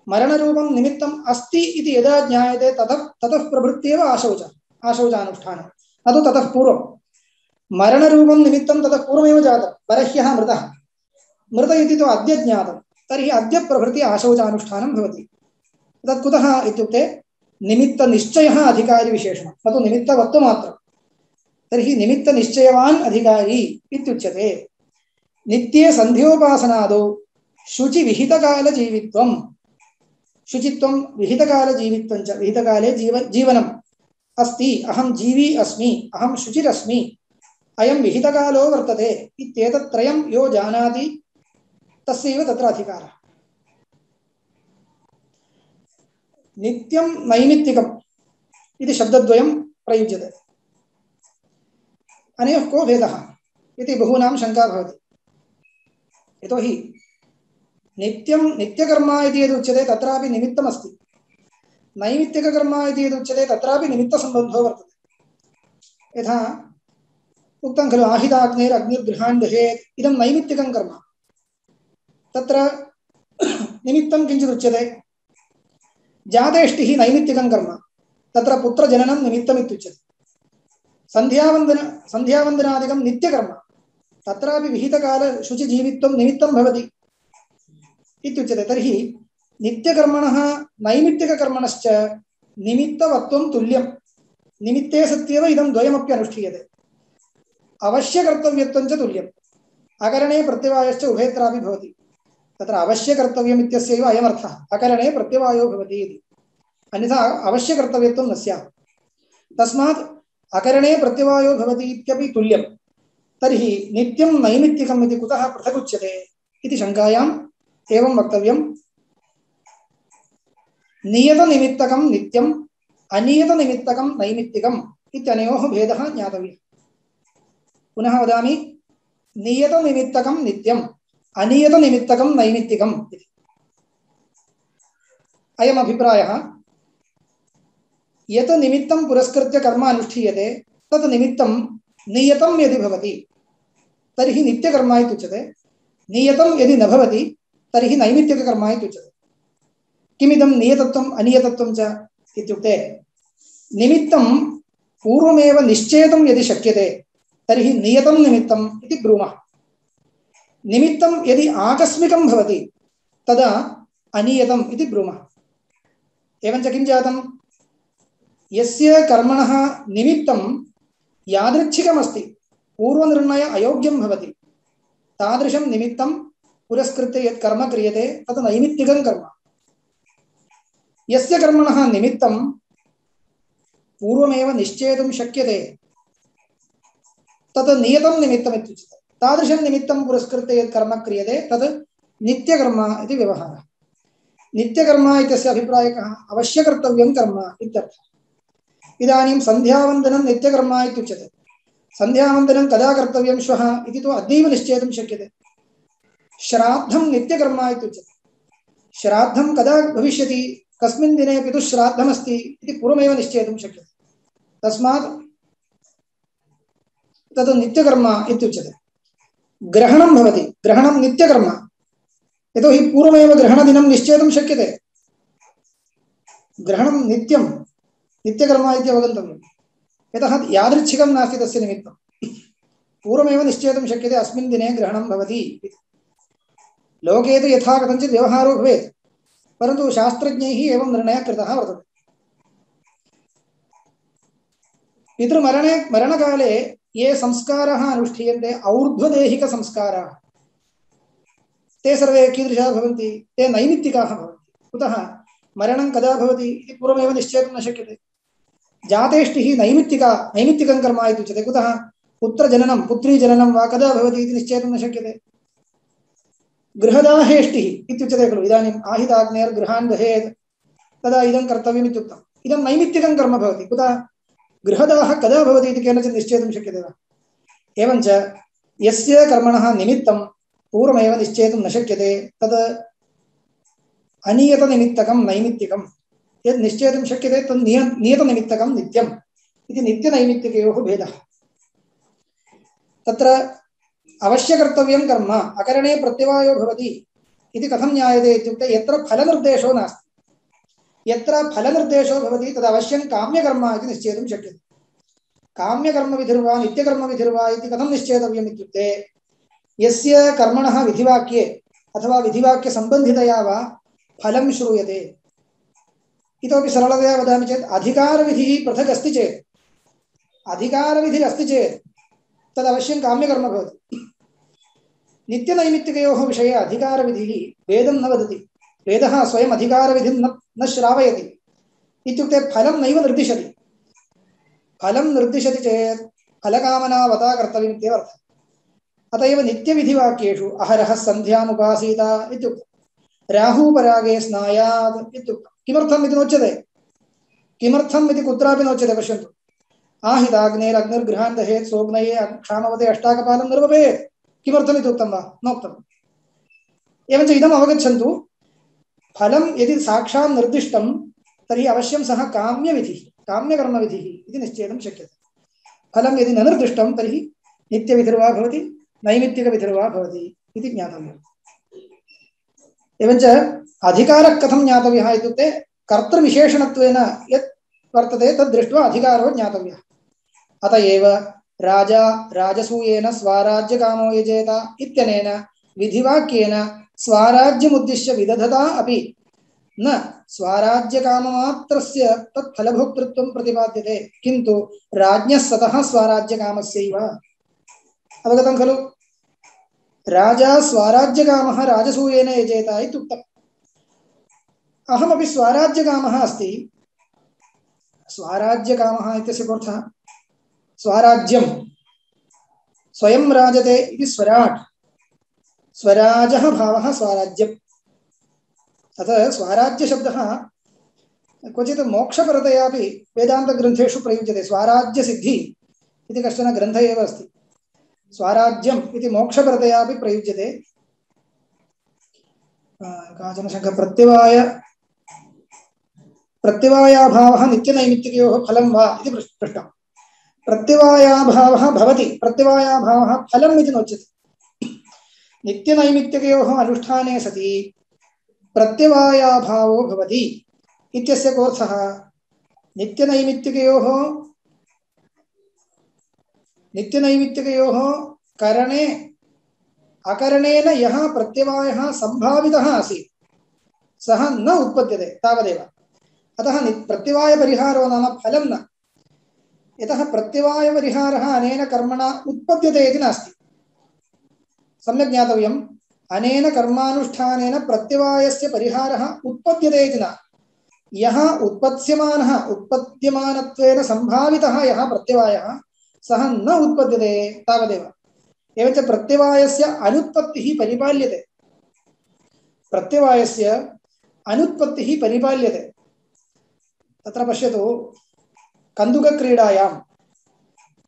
Speaker 2: मरणरूपं निमित्तम् अस्ति इति यदा ज्ञायते ततः प्रभृत्येव आशौचानुष्ठानं, न तु ततः पूर्वं। मरणरूपं निमित्तं ततः पूर्वमेव जातं। परह्यः मृतः, मृत इति तु अद्य ज्ञातं, तर्हि अद्य प्रभृति आशौचानुष्ठानं भवति। तत् कुतः इत्युक्ते निमित्तनिश्चयः अधिकारी विशेषणं, न तु निमित्तवत्वमात्रं। तर्हि निमित्तनिश्चयवान् अधिकारी इत्युच्यते। नित्ये सन्ध्योपासनादौ शुचिविहितकालजीवित्वं, शुचित्वं विहितकालजीवित्वं च, विहितकाले जीवनम् अस्ति, अहं जीवी अस्मि, अहं शुचिरस्मि, अयं विहितकालो वर्तते इत्येतत्त्रयं यो जानाति तस्यैव तत्र अधिकारः। नित्यं नैमित्तिकम् इति शब्दद्वयं प्रयुज्यते। अनयोः को भेदः इति बहूनां शङ्का भवति। यतोहि नित्यं नित्यकर्मा इति यदुच्यते तत्रापि निमित्तमस्ति, नैमित्तिककर्मा इति यदुच्यते तत्रापि निमित्तसम्बन्धो वर्तते। यथा उक्तं खलु आहिताग्नेरग्निर्गृहान् दहेत्, इदं नैमित्तिकं कर्म। तत्र निमित्तं किञ्चिदुच्यते। जातेष्टिः नैमित्तिकं कर्म, तत्र पुत्रजननं निमित्तमित्युच्यते। सन्ध्यावन्दनादिकं नित्यकर्म, तत्रापि विहितकाल शुचिजीवित्वं निमित्तं भवति इत्युच्यते। तर्हि नित्यकर्मणः नैमित्तिककर्मणश्च निमित्तवत्वं तुल्यं। निमित्ते सत्येव इदं द्वयमपि अनुष्ठीयते। अवश्यकर्तव्यत्वं च तुल्यम्। अकरणे प्रत्यवायश्च उभयत्रापि भवति। तत्र अवश्यकर्तव्यम् इत्यस्यैव अयमर्थः, अकरणे प्रत्यवायो भवति इति। अन्यथा अवश्यकर्तव्यत्वं न स्यात्। तस्मात् अकरणे प्रत्यवायो भवति इत्यपि तुल्यं। तर्हि नित्यं नैमित्तिकम् इति कुतः पृथगुच्यते इति शङ्कायाम् एवं वक्तव्यं। नियतनिमित्तकं नित्यम्, अनियतनिमित्तकं नैमित्तिकम् इत्यनयोः भेदः ज्ञातव्यः। पुनः वदामि, नियतनिमित्तकं नित्यम्, अनियतनिमित्तकं नैमित्तिकम् इति। अयम् अभिप्रायः। यत् निमित्तं पुरस्कृत्य कर्म अनुष्ठीयते तत् निमित्तं नियतं यदि भवति तर्हि नित्यकर्म इत्युच्यते। नियतं यदि न भवति तर्हि नैमित्तिककर्म इत्युच्यते। किमिदं नियतत्वम् अनियतत्वं च इत्युक्ते, निमित्तं पूर्वमेव निश्चेतुं यदि शक्यते तर्हि नियतं निमित्तम् इति ब्रूमः। निमित्तं यदि आकस्मिकं भवति तदा अनियतम् इति ब्रूमः। एवञ्च किं जातं? यस्य कर्मणः निमित्तं यादृच्छिकमस्ति, पूर्वनिर्णय अयोग्यं भवति, तादृशं निमित्तं पुरस्कृत्य यत् कर्म क्रियते तत् नैमित्तिकं कर्म। यस्य कर्मणः निमित्तं पूर्वमेव निश्चेतुं शक्यते तत् नियतं निमित्तमित्युच्यते। तादृशं निमित्तं पुरस्कृत्य यत् कर्म क्रियते तत् नित्यकर्म इति व्यवहारः। नित्यकर्मा इत्यस्य अभिप्रायकः अवश्यकर्तव्यं कर्म इत्यर्थः। इदानीं सन्ध्यावन्दनं नित्यकर्मा इत्युच्यते। सन्ध्यावन्दनं कदा कर्तव्यं श्वः इति तु अद्यैव निश्चेतुं शक्यते। श्राद्धं नित्यकर्मा इत्युच्यते। श्राद्धं कदा भविष्यति, कस्मिन् दिने पितुः श्राद्धमस्ति इति पूर्वमेव निश्चेतुं शक्यते। तस्मात् तद् नित्यकर्मा इत्युच्यते। ग्रहणं भवति, ग्रहणं नित्यकर्म, यतोहि पूर्वमेव ग्रहणदिनं निश्चेतुं शक्यते। ग्रहणं नित्यं नित्यकर्मा इति अवगन्तव्यं, यतः यादृच्छिकं नास्ति तस्य निमित्तं। पूर्वमेव निश्चेतुं शक्यते अस्मिन् दिने ग्रहणं भवति इति। लोके तु यथा कथञ्चित् व्यवहारो भवेत्, परन्तु शास्त्रज्ञैः एवं निर्णयः कृतः वर्तते। पितृमरणे मरणकाले ये संस्काराः अनुष्ठीयन्ते और्ध्वदेहिकसंस्काराः, ते सर्वे कीदृशाः भवन्ति? ते नैमित्तिकाः भवन्ति। कुतः? मरणं कदा भवति इति पूर्वमेव निश्चेतुं न शक्यते। जातेष्टिः नैमित्तिकं कर्म इति उच्यते। कुतः? पुत्रजननं पुत्रीजननं वा कदा भवति इति निश्चेतुं न शक्यते। गृहदाहेष्टिः इत्युच्यते खलु। इदानीम् आहिताग्नेर्गृहान् दहेत् तदा इदं कर्तव्यम् इत्युक्तम्। इदं नैमित्तिकं कर्म भवति। कुतः? गृहदाहः कदा भवति इति केनचित् निश्चेतुं शक्यते वा? एवञ्च यस्य कर्मणः निमित्तं पूर्वमेव निश्चेतुं न शक्यते तद् अनियतनिमित्तकं नैमित्तिकं। यद् निश्चेतुं शक्यते तद् नियतनिमित्तकं नित्यम् इति नित्यनैमित्तिकयोः भेदः। तत्र अवश्यकर्तव्यं कर्म अकरणे प्रत्यवायो भवति इति कथं ज्ञायते इत्युक्ते यत्र फलनिर्देशो नास्ति। यत्र फलनिर्देशो भवति तद् अवश्यं काम्यकर्म इति निश्चेतुं शक्यते। काम्यकर्मविधिर्वा नित्यकर्मविधिर्वा इति कथं निश्चेतव्यम् इत्युक्ते यस्य कर्मणः विधिवाक्ये अथवा विधिवाक्यसम्बन्धितया वा फलं श्रूयते। इतोपि सरलतया वदामि चेत् अधिकारविधिः पृथक् अस्ति चेत्, अधिकारविधिः अस्ति चेत् तदवश्यं काम्यकर्म भवति। नित्यनैमित्तिकयोः विषये अधिकारविधिः वेदं न वदति। वेदः स्वयम् अधिकारविधिं न श्रावयति। इत्युक्ते फलं नैव निर्दिशति। फलं निर्दिशति चेत् फलकामनावता कर्तव्यम् इत्येव अर्थः। अत एव नित्यविधिवाक्येषु अहरः सन्ध्यामुपासीत इत्युक्तं, राहूपरागे स्नायात् इत्युक्तं। किमर्थम् इति नोच्यते। किमर्थम् इति कुत्रापि नोच्यते। पश्यन्तु, आहिताग्नेरग्निर्गृहान् दहेत् सोऽग्नये क्षामवते अष्टाकपालं निर्वपेत्। किमर्थम् इति उक्तं वा? नोक्तम्। एवञ्च इदम् अवगच्छन्तु, फलं यदि साक्षात् निर्दिष्टं तर्हि अवश्यं सः काम्यविधिः काम्यकर्मविधिः इति निश्चेतुं शक्यते। फलं यदि न निर्दिष्टं तर्हि नित्यविधिर्वा भवति नैमित्तिकविधिर्वा भवति इति ज्ञातव्यम्। एवञ्च अधिकारः कथं ज्ञातव्यः इत्युक्ते कर्तृविशेषणत्वेन यत् वर्तते तद् दृष्ट्वा अधिकारो ज्ञातव्यः। अत एव राजा राजसूयेन स्वाराज्यकामो यजेत इत्यनेन विधिवाक्येन स्वाराज्यमुद्दिश्य विदधता अपि न स्वाराज्यकाममात्रस्य तत् फलभोक्तृत्वं प्रतिपाद्यते, किन्तु राज्ञः सतः स्वाराज्यकामस्यैव। अवगतं खलु? राजा स्वाराज्यकामः राजसूयेन यजेत इत्युक्तम्। अहमपि स्वाराज्यकामः अस्ति। स्वाराज्यकामः इत्यस्य कोऽर्थः? स्वाराज्यं स्वयं राजते इति स्वराट्, स्वराजः भावः स्वाराज्यम्। अतः स्वराज्यशब्दः क्वचित् मोक्षपरतयापि वेदान्तग्रन्थेषु प्रयुज्यते। स्वाराज्यसिद्धि इति कश्चन ग्रन्थ एव अस्ति। स्वाराज्यम् इति मोक्षपरतयापि प्रयुज्यते। काचन शङ्का प्रत्यवायाभावः नित्यनैमित्तिकयोः फलं वा इति पृष्टम्। प्रत्यवायाभावः भवति, प्रत्यवायाभावः फलम् इति नोच्यते। नित्यनैमित्तिकयोः अनुष्ठाने सति प्रत्यवायाभावो भवति इत्यस्य कोऽर्थः? नित्यनैमित्तिकयोः करणे अकरणेन यः प्रत्यवायः सम्भावितः आसीत् सः न उत्पद्यते तावदेव। अतः प्रत्यवायपरिहारो नाम फलं न। यतः प्रत्यवायपरिहारः अनेन कर्मणा उत्पद्यते इति नास्ति। सम्यक् ज्ञातव्यम्। अनेन कर्मानुष्ठानेन प्रत्यवायस्य परिहारः उत्पद्यते इति न। यः उत्पद्यमानत्वेन सम्भावितः यः प्रत्यवायः सः न उत्पद्यते तावदेव। एवञ्च प्रत्यवायस्य अनुत्पत्तिः परिपाल्यते। प्रत्यवायस्य अनुत्पत्तिः परिपाल्यते। तत्र पश्यतु, कन्दुकक्रीडायां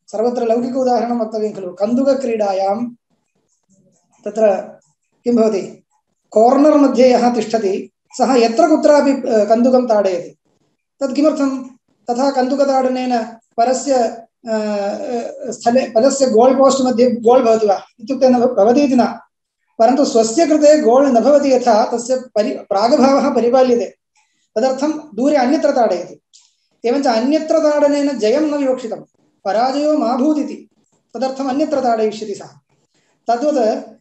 Speaker 2: सर्वत्र लौकिक उदाहरणं वक्तव्यं खलु। कन्दुकक्रीडायां तत्र किं भवति, कार्नर् मध्ये यः तिष्ठति सः यत्र कुत्रापि कन्दुकं ताडयति। तत् किमर्थं? तथा कन्दुकताडनेन परस्य स्थले परस्य गोल् पोस्ट् मध्ये गोल् भवति वा इत्युक्ते न भवति इति न, परन्तु स्वस्य कृते गोल् न भवति यथा तस्य प्रागभावः परिपाल्यते, तदर्थं दूरे अन्यत्र ताडयति। एवञ्च अन्यत्र ताडनेन जयं न विवक्षितं, पराजयो मा भूदिति, तदर्थम् अन्यत्र ताडयिष्यति सः। तद्वत्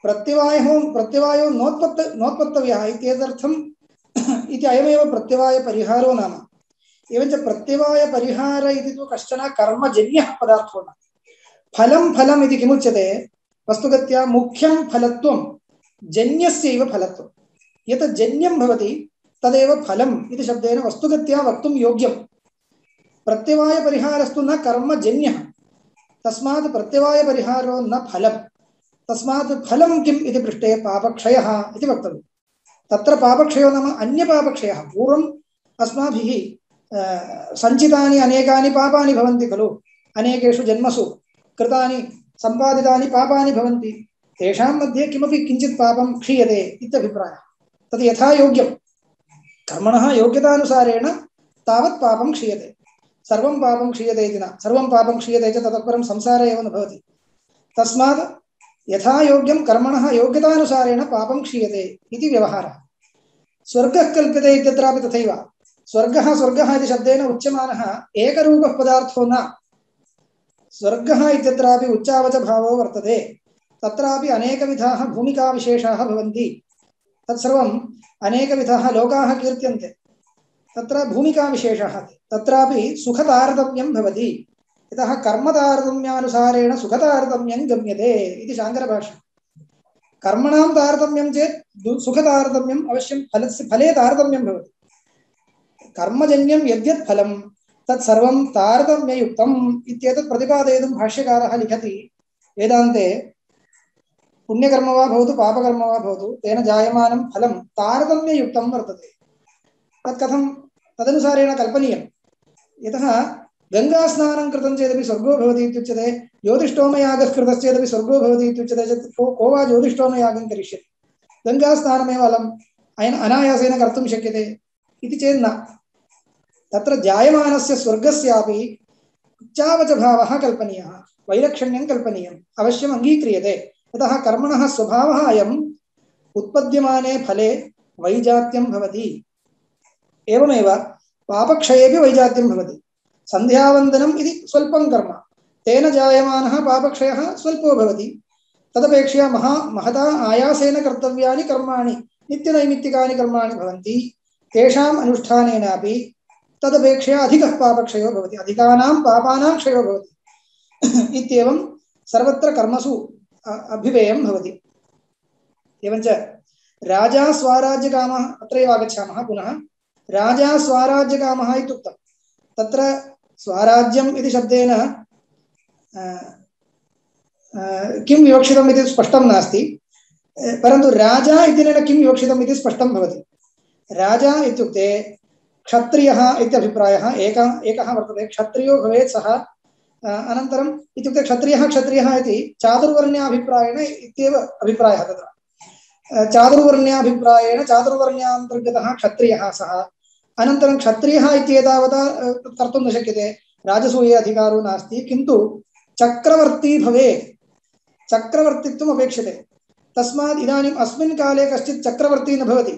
Speaker 2: प्रत्यवायो नोत्पत्तव्यः इत्येतदर्थम् इति अयमेव प्रत्यवायपरिहारो नाम। एवञ्च प्रत्यवायपरिहार इति तु कश्चन कर्मजन्यः पदार्थो न। फलं फलम् इति किमुच्यते? वस्तुगत्या मुख्यं फलत्वं जन्यस्यैव फलत्वं। यत् जन्यं भवति तदेव फलम् इति शब्देन वस्तुगत्या वक्तुं योग्यं। प्रत्यवायपरिहारस्तु न कर्मजन्यः, तस्मात् प्रत्यवायपरिहारो न फलम्। तस्मात् फलं किम् इति पृष्टे पापक्षयः इति वक्तव्यं। तत्र पापक्षयो नाम अन्यपापक्षयः। पूर्वम् अस्माभिः सञ्चितानि अनेकानि पापानि भवन्ति खलु, अनेकेषु जन्मसु कृतानि सम्पादितानि पापानि भवन्ति, तेषां मध्ये किमपि किञ्चित् पापं क्षीयते इत्यभिप्रायः। तद् यथा योग्यं कर्मणः योग्यतानुसारेण तावत् पापं क्षीयते। सर्वं पापं क्षीयते इति न, सर्वं पापं क्षीयते च ततः परं संसारे एव न भवति। तस्मात् यथा योग्यं कर्मणः योग्यतानुसारेण पापं क्षीयते इति व्यवहारः। स्वर्गः कल्प्यते इत्यत्रापि तथैव। स्वर्गः स्वर्गः इति शब्देन उच्यमानः एकरूपः पदार्थो न। स्वर्गः इत्यत्रापि उच्चावचभावो वर्तते। तत्रापि अनेकविधाः भूमिकाविशेषाः भवन्ति। तत्सर्वम् अनेकविधाः लोकाः कीर्त्यन्ते। तत्र भूमिकाविशेषः तत्रापि सुखतारतम्यं भवति। यतः कर्मतारतम्यानुसारेण सुखतारतम्यं गम्यते इति शाङ्करभाष्यम्। कर्मणां तारतम्यं चेत् सुखतारतम्यम् अवश्यं फले तारतम्यं भवति। कर्मजन्यं यद्यत् फलं तत्सर्वं तारतम्ययुक्तम् इत्येतत् प्रतिपादयितुं भाष्यकारः लिखति वेदान्ते, पुण्यकर्म वा भवतु पापकर्म वा भवतु तेन जायमानं फलं तारतम्ययुक्तं वर्तते। तत् कथं तदनुसारेण कल्पनीयं। यतः गङ्गास्नानं कृतं चेदपि स्वर्गो भवति इत्युच्यते, ज्योतिष्ठोमयागः कृतश्चेदपि स्वर्गो भवति इत्युच्यते चेत् को वा ज्योतिष्ठोमयागं करिष्यति? गङ्गास्नानमेव अनायासेन कर्तुं शक्यते इति चेत् न। तत्र जायमानस्य स्वर्गस्यापि उच्चावचभावः कल्पनीयः, वैलक्षण्यं कल्पनीयम्, अवश्यम् अङ्गीक्रियते। यतः कर्मणः स्वभावः अयम्, उत्पद्यमाने फले वैजात्यं भवति। एवमेव पापक्षयेपि वैजात्यं भवति। सन्ध्यावन्दनम् इति स्वल्पं कर्म, तेन जायमानः पापक्षयः स्वल्पो भवति। तदपेक्षया महता आयासेन कर्तव्यानि कर्माणि, नित्यनैमित्तिकानि कर्माणि भवन्ति। तेषाम् अनुष्ठानेनापि तदपेक्षया अधिकः पापक्षयो भवति, अधिकानां पापानां क्षयो भवति। इत्येवं सर्वत्र कर्मसु अभिवेयं भवति। एवञ्च राजा स्वाराज्यकामः, अत्रैव आगच्छामः पुनः। राजा स्वाराज्यकामः इत्युक्तं। तत्र स्वाराज्यम् इति शब्देन किं विवक्षितम् इति स्पष्टं नास्ति, परन्तु राजा इत्यनेन किं विवक्षितम् इति स्पष्टं भवति। राजा इत्युक्ते क्षत्रियः इत्यभिप्रायः एकः वर्तते। क्षत्रियो भवेत् सः। अनन्तरम् इत्युक्ते क्षत्रियः इति चातुर्वर्ण्याभिप्रायेण इत्येव अभिप्रायः। तत्र चातुर्वर्ण्याभिप्रायेण चातुर्वर्ण्यान्तर्गतः क्षत्रियः सः। अनन्तरं क्षत्रियः इत्येतावता कर्तुं न शक्यते, राजसूये अधिकारो नास्ति, किन्तु चक्रवर्ती भवेत्, चक्रवर्तित्वम् अपेक्षते। तस्मात् इदानीम् अस्मिन् काले कश्चित् चक्रवर्ती न भवति,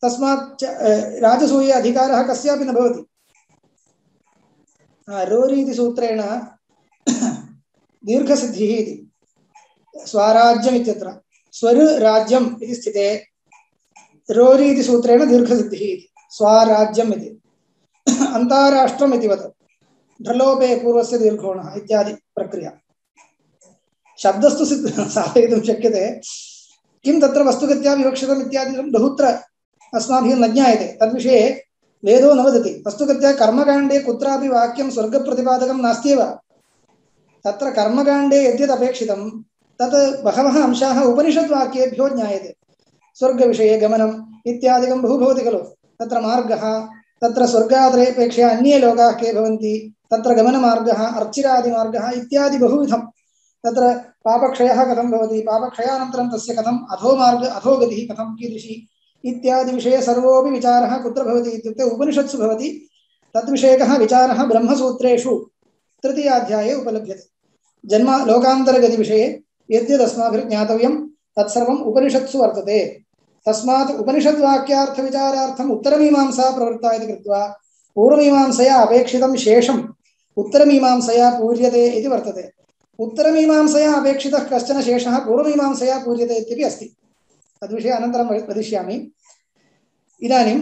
Speaker 2: तस्मात् राजसूये अधिकारः कस्यापि न भवति। रोरि इति सूत्रेण दीर्घसिद्धिः इति स्वाराज्यम् इत्यत्र स्वरराज्यम् इति स्थिते रोरि इति सूत्रेण दीर्घसिद्धिः इति स्वाराज्यम् इति। अन्ताराष्ट्रम् इति वत् ढ्रलोपे पूर्वस्य दीर्घोणः इत्यादि प्रक्रिया। शब्दस्तु साधयितुं शक्यते, किं तत्र वस्तुगत्या विवक्षितम् इत्यादिकं बहुत्र अस्माभिः न ज्ञायते। तद्विषये वेदो न वदति। वस्तुगत्या कर्मकाण्डे कुत्रापि वाक्यं स्वर्गप्रतिपादकं नास्त्येव। तत्र कर्मकाण्डे यद्यत् अपेक्षितं तत् बहवः अंशाः उपनिषद्वाक्येभ्यो ज्ञायते। स्वर्गविषये गमनम् इत्यादिकं बहु भवति खलु। तत्र मार्गः, तत्र स्वर्गादपेक्षया अन्ये लोकाः के भवन्ति, तत्र गमनमार्गः, अर्चिरादिमार्गः इत्यादि बहुविधं। तत्र पापक्षयः कथं भवति, पापक्षयानन्तरं तस्य कथम् अधोगतिः कथं कीदृशी इत्यादि विषये सर्वोऽपि विचारः कुत्र भवति इत्युक्ते उपनिषत्सु भवति। तद्विषयकः विचारः ब्रह्मसूत्रेषु तृतीयाध्याये उपलभ्यते। जन्म लोकान्तरगतिविषये यद्यदस्माभिर्ज्ञातव्यं तत्सर्वम् उपनिषत्सु वर्तते। तस्मात् उपनिषद्वाक्यार्थविचारार्थम् उत्तरमीमांसा प्रवृत्ता इति कृत्वा पूर्वमीमांसया अपेक्षितं शेषम् उत्तरमीमांसया पूर्यते इति वर्तते। उत्तरमीमांसया अपेक्षितः कश्चन शेषः पूर्वमीमांसया पूर्यते इत्यपि अस्ति। तद्विषये अनन्तरं वदिष्यामि। इदानीं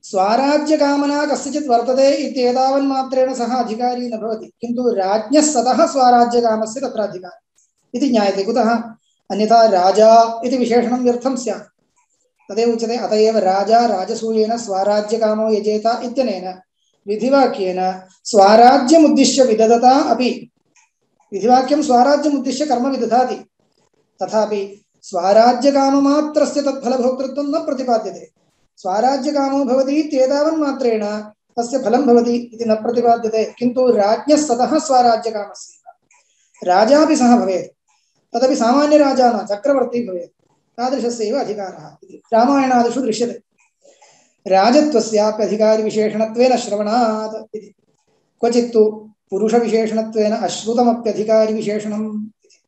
Speaker 2: स्वाराज्यकामना कस्यचित् वर्तते इत्येतावन्मात्रेण सः अधिकारी न भवति, किन्तु राज्ञः सतः स्वाराज्यकामस्य तत्र अधिकारी इति ज्ञायते। कुतः? अन्यथा राजा इति विशेषणं व्यर्थं स्यात्। तदेव उच्यते अत एव राजा राजसूयेन स्वराज्यकामो यजेत इत्यनेन विधिवाक्येन स्वराज्यमुद्दिश्य विदधता अपि। विधिवाक्यं स्वराज्यमुद्दिश्य कर्म विदधाति, तथापि स्वराज्यकाममात्रस्य तत्फलभोक्तृत्वं न प्रतिपाद्यते। स्वराज्यकामो भवति इत्येतावन्मात्रेण तस्य फलं भवति इति न प्रतिपाद्यते, किन्तु राज्ञः सतः स्वराज्यकामस्य राजापि सः भवेत्, तदपि सामान्यराजा न, चक्रवर्ती भवेत्। तादृशस्यैव अधिकारः इति रामायणादिषु दृश्यते। राजत्वस्याप्यधिकारिविशेषणत्वेन श्रवणात् इति। क्वचित्तु पुरुषविशेषणत्वेन अश्रुतमप्यधिकारिविशेषणम् इति।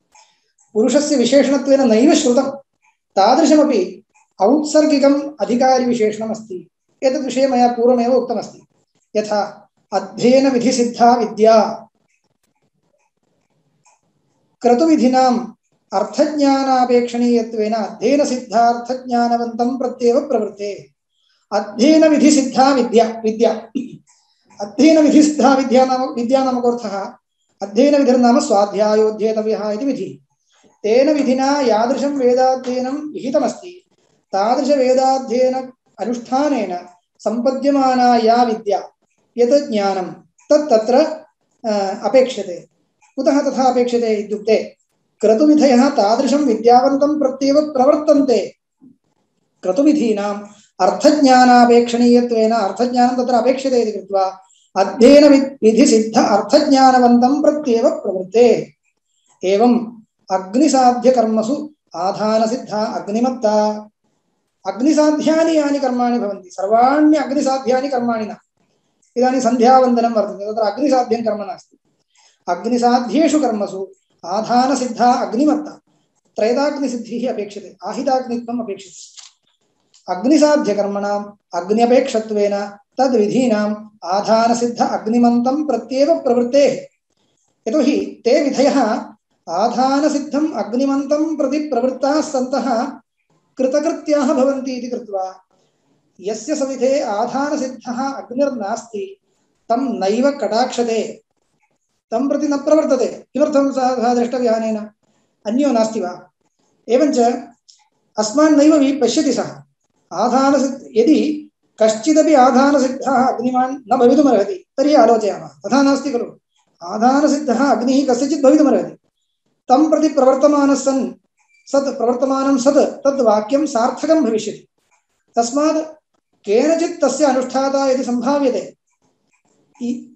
Speaker 2: पुरुषस्य विशेषणत्वेन नैव श्रुतं, तादृशमपि औत्सर्गिकम् अधिकारिविशेषणमस्ति। एतद्विषये मया पूर्वमेव उक्तमस्ति। यथा अध्ययनविधिसिद्धा विद्या क्रतुविधिनाम् अर्थज्ञानापेक्षणीयत्वेन अध्ययनसिद्धार्थज्ञानवन्तं प्रत्येव प्रवृत्ते। अध्ययनविधिसिद्धा विद्या अध्ययनविधिसिद्धा विद्या नाम कोऽर्थः? अध्ययनविधिर्नाम स्वाध्यायोऽध्येतव्यः इति विधिः। तेन विधिना यादृशं वेदाध्ययनं विहितमस्ति तादृशवेदाध्ययन अनुष्ठानेन सम्पद्यमाना या विद्या, यत् ज्ञानं तत्र अपेक्षते। कुतः तथा अपेक्षते इत्युक्ते क्रतुविधयः तादृशं विद्यावन्तं प्रत्येव प्रवर्तन्ते। क्रतुविधीनाम् अर्थज्ञानापेक्षणीयत्वेन अर्थज्ञानं तत्र अपेक्षते इति कृत्वा अध्ययनविधिसिद्ध अर्थज्ञानवन्तं प्रत्येव प्रवृत्ते। एवम् अग्निसाध्यकर्मसु आधानसिद्धा अग्निमत्ता। अग्निसाध्यानि यानि कर्माणि भवन्ति सर्वाणि अग्निसाध्यानि कर्माणि न। इदानीं सन्ध्यावन्दनं वर्तते, तत्र अग्निसाध्यं कर्म नास्ति। अग्निसाध्येषु कर्मसु आधानसिद्धा अग्निमत्ता। त्रैदाग्निसिद्धिः अपेक्षते, आहिताग्नित्वम् अपेक्षते। अग्निसाध्यकर्मणाम् अग्न्यपेक्षत्वेन तद्विधीनाम् आधानसिद्ध अग्निमन्तं प्रत्येव प्रवृत्तेः। यतोहि ते विधयः आधानसिद्धम् अग्निमन्तं प्रति प्रवृत्ताः सन्तः कृतकृत्याः भवन्ति इति कृत्वा यस्य सविधे आधानसिद्धः अग्निर्नास्ति तं नैव कटाक्षते, तं प्रति न प्रवर्तते। किमर्थं सः द्रष्टव्यानेन? अन्यो नास्ति वा? एवञ्च अस्मान् नैव पश्यति सः। यदि कश्चिदपि आधानसिद्धः अग्निमान् न भवितुमर्हति तर्हि आलोचयामः, तथा नास्ति खलु। आधानसिद्धः अग्निः कस्यचित् भवितुमर्हति, तं प्रति प्रवर्तमानं सत् तद् वाक्यं सार्थकं भविष्यति। तस्मात् केनचित् तस्य अनुष्ठाता यदि सम्भाव्यते,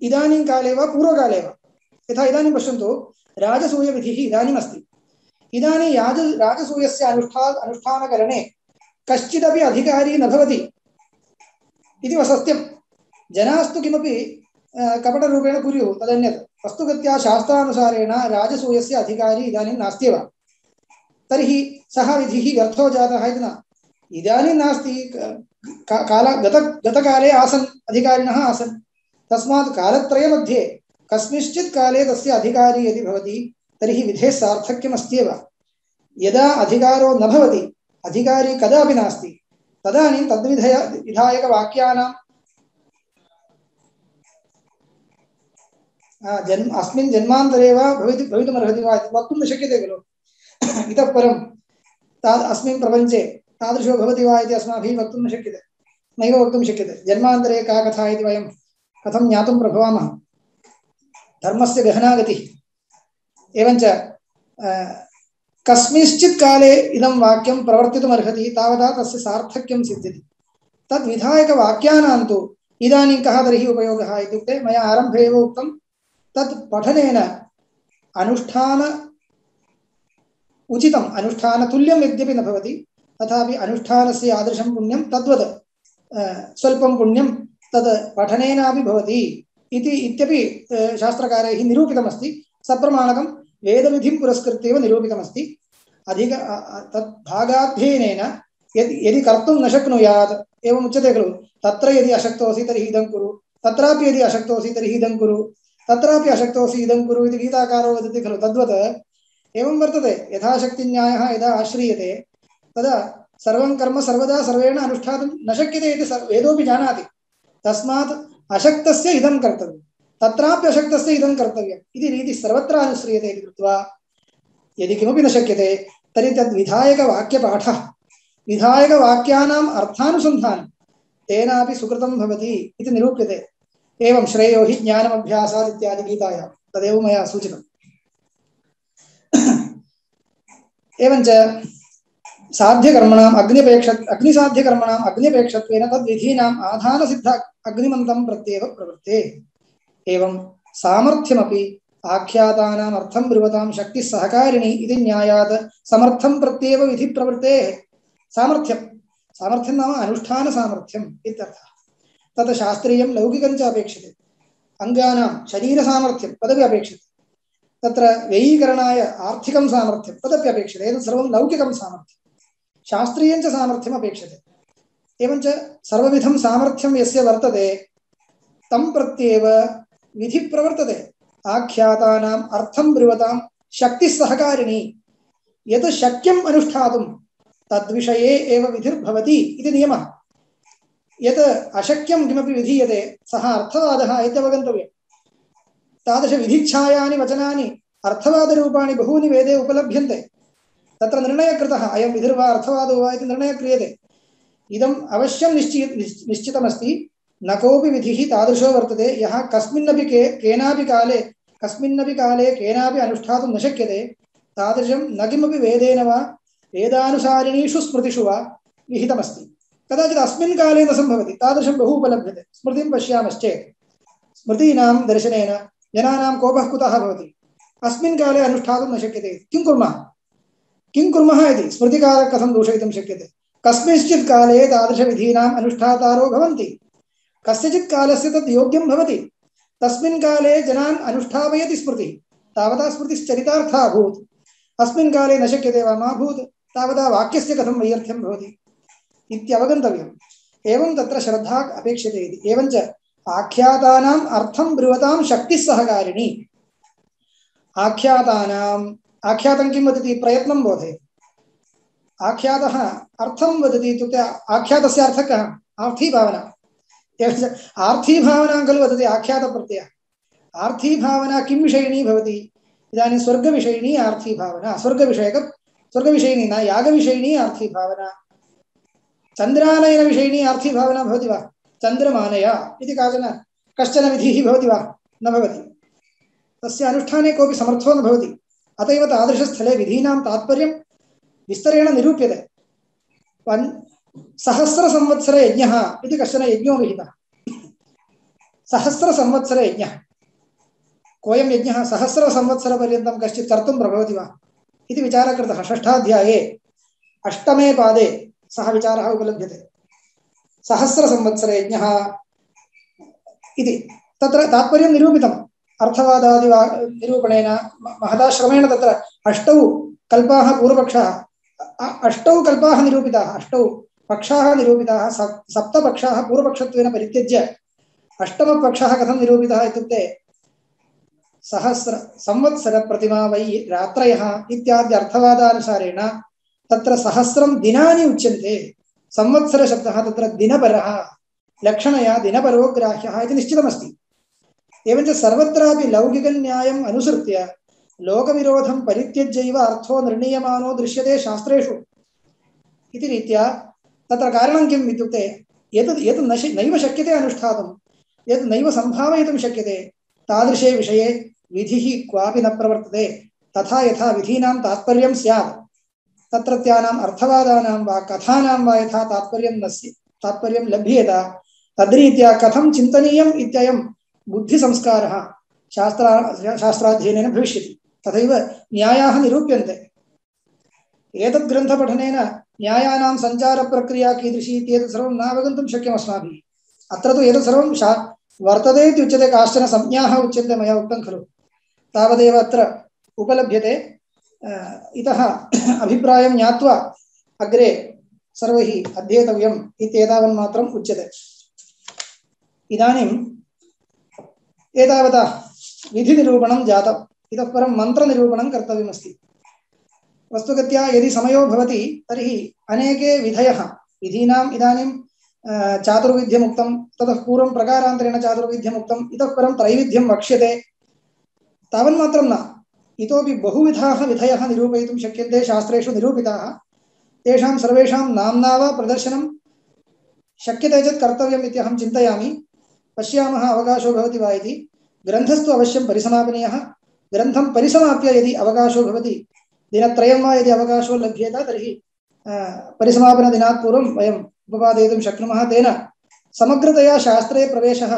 Speaker 2: इदानीं काले वा पूर्वकाले वा, यथा इदानीं पश्यन्तु राजसूयविधिः इदानीम् अस्ति। इदानीं राजसूयस्य अनुष्ठानकरणे कश्चिदपि अधिकारी न भवति इति सत्यं। जनास्तु किमपि कपटरूपेण कुर्युः, तदन्यत्। वस्तुगत्या शास्त्रानुसारेण राजसूयस्य अधिकारी इदानीं नास्त्येव। तर्हि सः विधिः व्यर्थो जातः इति न। इदानीं नास्ति, गतकाले आसन्, अधिकारिणः आसन्। तस्मात् कालत्रयमध्ये कस्मिंश्चित् काले तस्य अधिकारी यदि भवति तर्हि विधेः सार्थक्यमस्त्येव। यदा अधिकारो न भवति, अधिकारी कदापि नास्ति, तदानीं तद्विधायकवाक्यानां अस्मिन् जन्मान्तरे वा भवितुमर्हति वा इति वक्तुं न शक्यते खलु। इतः परं अस्मिन् प्रपञ्चे तादृशो भवति वा इति अस्माभिः वक्तुं न शक्यते, नैव वक्तुं शक्यते। जन्मान्तरे का कथा इति वयं कथं ज्ञातुं प्रभवामः? धर्मस्य गहना गतिः। एवञ्च कस्मिंश्चित् काले इदं वाक्यं प्रवर्तितुमर्हति तावता तस्य सार्थक्यं सिद्ध्यति। तद्विधायकवाक्यानां तु इदानीं कः तर्हि उपयोगः इत्युक्ते मया आरम्भे एव उक्तं तत् पठनेन अनुष्ठान उचितम् अनुष्ठानतुल्यं यद्यपि न भवति तथापि अनुष्ठानस्य यादृशं पुण्यं तद्वत् स्वल्पं पुण्यं तद् पठनेनापि भवति इति इत्यपि शास्त्रकारैः निरूपितमस्ति। सप्रमाणकं वेदविधिं पुरस्कृत्येव निरूपितमस्ति। अधिक तत् भागाध्ययनेन यदि कर्तुं न शक्नुयात् एवम् उच्यते खलु, तत्र यदि अशक्तोऽसि तर्हि इदं कुरु, तत्रापि यदि अशक्तोऽसि तर्हि इदं कुरु, तत्रापि अशक्तोऽसि इदं कुरु इति गीताकारो वदति खलु, तद्वत् एवं वर्तते। यथाशक्तिन्यायः यदा आश्रीयते तदा सर्वं कर्म सर्वदा सर्वेण अनुष्ठातुं न शक्यते इति वेदोऽपि जानाति। तस्मात् अशक्तस्य इदं कर्तव्यं, तत्रापि अशक्तस्य इदं कर्तव्यम् इति रीतिः सर्वत्र अनुस्रियते इति कृत्वा यदि किमपि न शक्यते तर्हि तद्विधायकवाक्यपाठः, विधायकवाक्यानाम् अर्थानुसन्धानं तेनापि सुकृतं भवति इति निरूप्यते। एवं श्रेयो हि ज्ञानमभ्यासात् इत्यादि गीतायां तदेव मया सूचितम्। एवञ्च साध्यकर्मणाम् अग्निसाध्यकर्मणाम् अग्न्यपेक्षत्वेन तद्विधीनाम् आधानसिद्ध अग्निमन्तं प्रत्येव प्रवृत्ते। एवं सामर्थ्यमपि आख्यातानाम् अर्थं ब्रुवतां शक्तिः सहकारिणी इति न्यायात् समर्थं प्रत्येव विधि प्रवृत्तेः। सामर्थ्यं नाम अनुष्ठानसामर्थ्यम् इत्यर्थः। तत् शास्त्रीयं लौकिकं च अपेक्षते। अङ्गानां शरीरसामर्थ्यं तदपि अपेक्षते। तत्र व्ययीकरणाय आर्थिकं सामर्थ्यं तदपि अपेक्षते। एतत् सर्वं लौकिकं सामर्थ्यं। शास्त्रीयं च सामर्थ्यम् अपेक्षते। एवञ्च सर्वविधं सामर्थ्यं यस्य वर्तते तं प्रत्येव विधि प्रवर्तते। आख्यातानाम् अर्थं ब्रुवतां शक्तिः सहकारिणी। यत् शक्यम् अनुष्ठातुं तद्विषये एव विधिर्भवति इति नियमः। यत् अशक्यं किमपि विधीयते सः अर्थवादः इत्यवगन्तव्यम्। तादृशविधिच्छायानि वचनानि अर्थवादरूपाणि बहूनि वेदे उपलभ्यन्ते। तत्र निर्णयः कृतः अयं विधिर्वा अर्थवादो वा इति निर्णयः क्रियते। इदम् अवश्यं निश्चितमस्ति। न कोऽपि विधिः तादृशो वर्तते यः कस्मिन्नपि काले केनापि अनुष्ठातुं न शक्यते। तादृशं न किमपि वेदेन वा वेदानुसारिणीषु स्मृतिषु वा विहितमस्ति। कदाचित् अस्मिन् काले न सम्भवति, तादृशं बहु उपलभ्यते। स्मृतिं पश्यामश्चेत् स्मृतीनां दर्शनेन जनानां कोपः कुतः भवति? अस्मिन् काले अनुष्ठातुं न शक्यते। किं कुर्मः इति स्मृतिकारः कथं दूषयितुं शक्यते? कस्मिंश्चित् काले तादृशविधीनाम् अनुष्ठातारो भवन्ति। कस्यचित् कालस्य तद् योग्यं भवति। तस्मिन् काले जनान् अनुष्ठापयति स्मृतिः। तावता स्मृतिश्चरितार्था अभूत्। अस्मिन् काले न शक्यते वा मा भूत्, तावता वाक्यस्य कथं वैयर्थ्यं भवति इत्यवगन्तव्यम्। एवं तत्र श्रद्धा अपेक्षते इति। एवञ्च आख्यातानाम् अर्थं ब्रुवतां शक्तिः सहकारिणी। आख्यातं किं वदति? प्रयत्नं बोधयति। आख्यातः अर्थं वदति इत्युक्ते आख्यातस्य अर्थः कः? आर्थीभावना। आर्थीभावनां खलु वदति आख्यातप्रत्ययः। आर्थीभावना किं विषयिणी भवति? इदानीं स्वर्गविषयिणी आर्थीभावना, स्वर्गविषयिणी न यागविषयिणी आर्थीभावना। चन्द्रानयनविषयिणी आर्थीभावना भवति वा? चन्द्रमानय इति कश्चन विधिः भवति वा? न भवति। तस्य अनुष्ठाने कोऽपि समर्थो न भवति। अत एव तादृशस्थले विधीनां तात्पर्यं विस्तरेण निरूप्यते। सहस्रसंवत्सर यज्ञः इति कश्चन यज्ञो विहितः। सहस्रसंवत्सर यज्ञः, कोऽयं यज्ञः सहस्रसंवत्सरपर्यन्तं कश्चित् कर्तुं प्रभवति वा इति विचारः कृतः। षष्ठाध्याये अष्टमे पादे सः विचारः उपलभ्यते। सहस्रसंवत्सर यज्ञः इति तत्र तात्पर्यं निरूपितम्। अर्थवादादि निरूपणेन महदाश्रमेण तत्र अष्टौ कल्पाः पूर्वपक्षाः, अष्टौ कल्पाः निरूपिताः, अष्टौ पक्षाः निरूपिताः। सप्तपक्षाः पूर्वपक्षत्वेन परित्यज्य अष्टमपक्षः कथं निरूपितः इत्युक्ते सहस्र संवत्सर प्रतिमा वै रात्रयः इत्यादि अर्थवादानुसारेण तत्र सहस्रं दिनानि उच्यन्ते। संवत्सरशब्दः तत्र दिनपरः, लक्षणया दिनपरो ग्राह्यः इति निश्चितमस्ति। एवञ्च सर्वत्रापि लौकिकन्यायम् अनुसृत्य लोकविरोधं परित्यज्यैव अर्थो निर्णीयमानो दृश्यते शास्त्रेषु इति रीत्या तत्र कारणं किम् इत्युक्ते यत् नैव शक्यते अनुष्ठातुं, यत् नैव सम्भावयितुं शक्यते, तादृशे विषये विधिः क्वापि न प्रवर्तते। तथा यथा विधीनां तात्पर्यं स्यात् तत्रत्यानाम् अर्थवादानां वा कथानां वा यथा तात्पर्यं लभ्येत तद्रीत्या कथं चिन्तनीयम् इत्ययं बुद्धिसंस्कारः शास्त्राध्ययनेन भविष्यति। तथैव न्यायाः निरूप्यन्ते। एतद् ग्रन्थपठनेन न्यायानां सञ्चारप्रक्रिया कीदृशी इत्येतत् सर्वं नावगन्तुं शक्यम् अस्माभिः। अत्र तु एतत् सर्वं वर्तते इति उच्यते। काश्चन संज्ञाः उच्यन्ते, मया उक्तं खलु, तावदेव अत्र उपलभ्यते। इतः अभिप्रायं ज्ञात्वा अग्रे सर्वैः अध्येतव्यम् इत्येतावन्मात्रम् उच्यते। इदानीम् एतावता विधिनिरूपणं जातम्। इतः परं मन्त्रनिरूपणं कर्तव्यमस्ति। वस्तुगत्या यदि समयो भवति तर्हि अनेके विधयः विधीनाम् इदानीं चातुर्विध्यमुक्तं, ततः पूर्वं प्रकारान्तरेण चातुर्विध्यमुक्तं, इतः परं त्रैविध्यं वक्ष्यते। तावन्मात्रं न, इतोपि बहुविधाः विधयः निरूपयितुं शक्यन्ते, शास्त्रेषु निरूपिताः। तेषां सर्वेषां नाम्ना वा प्रदर्शनं शक्यते चेत् कर्तव्यम् इति अहं चिन्तयामि। पश्यामः अवकाशो भवति वा इति। ग्रन्थस्तु अवश्यं परिसमापनीयः। ग्रन्थं परिसमाप्य यदि अवकाशो भवति, दिनत्रयं वा यदि अवकाशो लभ्येत तर्हि परिसमापनदिनात् पूर्वं वयम् उपपादयितुं शक्नुमः। तेन समग्रतया शास्त्रे प्रवेशः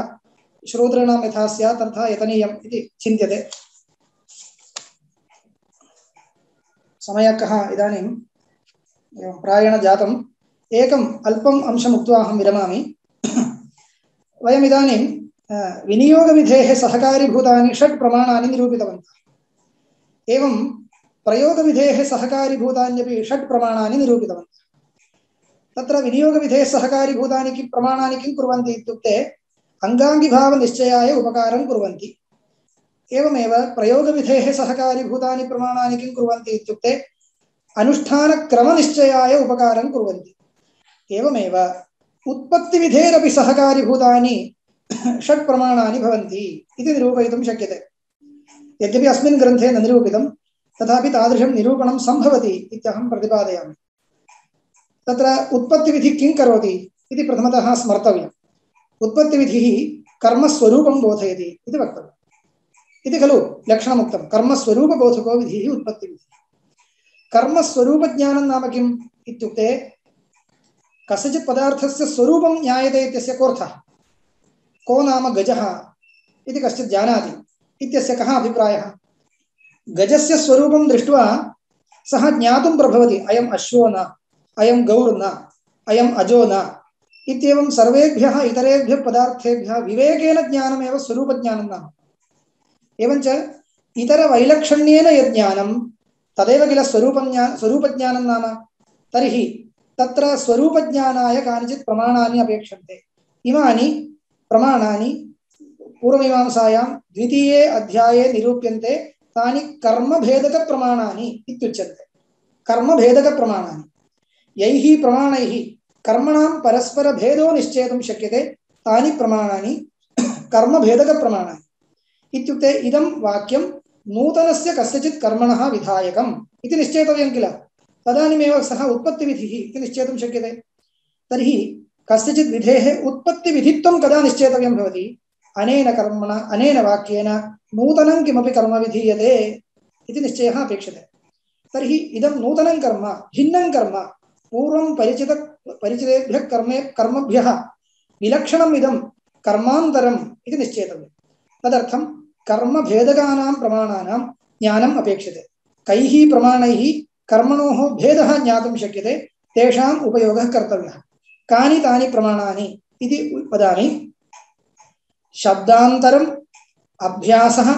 Speaker 2: श्रोतॄणां यथा स्यात् तथा यतनीयम् इति चिन्त्यते। समयः इदानीं प्रायेण जातम्। एकम् अल्पम् अंशम् उक्त्वा अहं विरमामि। वयम् इदानीं विनियोगविधेः सहकारीभूतानि 6 प्रमाणानि निरूपितवन्तः। एवं प्रयोगविधेः सहकारीभूतान्यपि 6 प्रमाणानि निरूपितवन्तः। तत्र विनियोगविधेः सहकारीभूतानि प्रमाणानि किं कुर्वन्ति इत्युक्ते अङ्गाङ्गिभावनिश्चयाय उपकारं कुर्वन्ति। एवमेव प्रयोगविधेः सहकारीभूतानि प्रमाणानि किं कुर्वन्ति इत्युक्ते अनुष्ठानक्रमनिश्चयाय उपकारं कुर्वन्ति। एवमेव उत्पत्तिविधेरपि सहकारीभूतानि 6 प्रमाणानि भवन्ति इति निरूपयितुं शक्यते। यद्यपि अस्मिन् ग्रन्थे न निरूपितं, तथापि तादृशं निरूपणं सम्भवति इत्यहं प्रतिपादयामि। तत्र उत्पत्तिविधिः किं करोति इति प्रथमतः स्मर्तव्यम्। उत्पत्तिविधिः कर्मस्वरूपं बोधयति इति वक्तव्यम्। इति खलु लक्षणमुक्तं। कर्मस्वरूपबोधको विधिः उत्पत्तिविधिः। कर्मस्वरूपज्ञानं नाम किम् इत्युक्ते कस्यचित् पदार्थस्य स्वरूपं ज्ञायते इत्यस्य कोऽर्थः? को नाम गजः इति कश्चित् जानाति इत्यस्य कः अभिप्रायः? गजस्य स्वरूपं दृष्ट्वा सः ज्ञातुं प्रभवति, अयम् अश्वो न, अयं गौर् न, अयम् अजो न इत्येवं सर्वेभ्यः इतरेभ्यः पदार्थेभ्यः विवेकेन ज्ञानमेव स्वरूपज्ञानं नाम। एवञ्च इतरवैलक्षण्येन यज्ञानं तदेव किल स्वरूपज्ञानं नाम। तर्हि तत्र स्वरूपज्ञानाय कानिचित् प्रमाणानि अपेक्षन्ते। इमानि प्रमाणानि पूर्वमीमांसायां द्वितीये अध्याये निरूप्यन्ते। तानि कर्मभेदकप्रमाणानि इत्युच्यन्ते। कर्मभेदकप्रमाणानि यैः प्रमाणैः कर्मणां परस्परभेदो निश्चेतुं शक्यते, तानि प्रमाणानि कर्मभेदकप्रमाणानि। इत्युक्ते इदं वाक्यं नूतनस्य कस्यचित् कर्मणः विधायकम् इति निश्चेतव्यं किल, तदानीमेव सः उत्पत्तिविधिः इति निश्चेतुं शक्यते। तर्हि कस्यचित् विधेः उत्पत्तिविधित्वं कदा निश्चेतव्यं भवति? अनेन कर्मणा, अनेन वाक्येन नूतनं किमपि कर्म विधीयते इति निश्चयः अपेक्षते। तर्हि इदं नूतनं कर्म, भिन्नं कर्म, पूर्वं परिचितेभ्यः कर्मभ्यः विलक्षणम् इदं कर्मान्तरम् इति निश्चेतव्यम्। तदर्थं कर्मभेदकानां प्रमाणानां ज्ञानम् अपेक्षते। कैः प्रमाणैः कर्मणोः भेदः ज्ञातुं शक्यते, तेषाम् उपयोगः कर्तव्यः। कानि तानि प्रमाणानि इति वदामि। शब्दान्तरम्, अभ्यासः,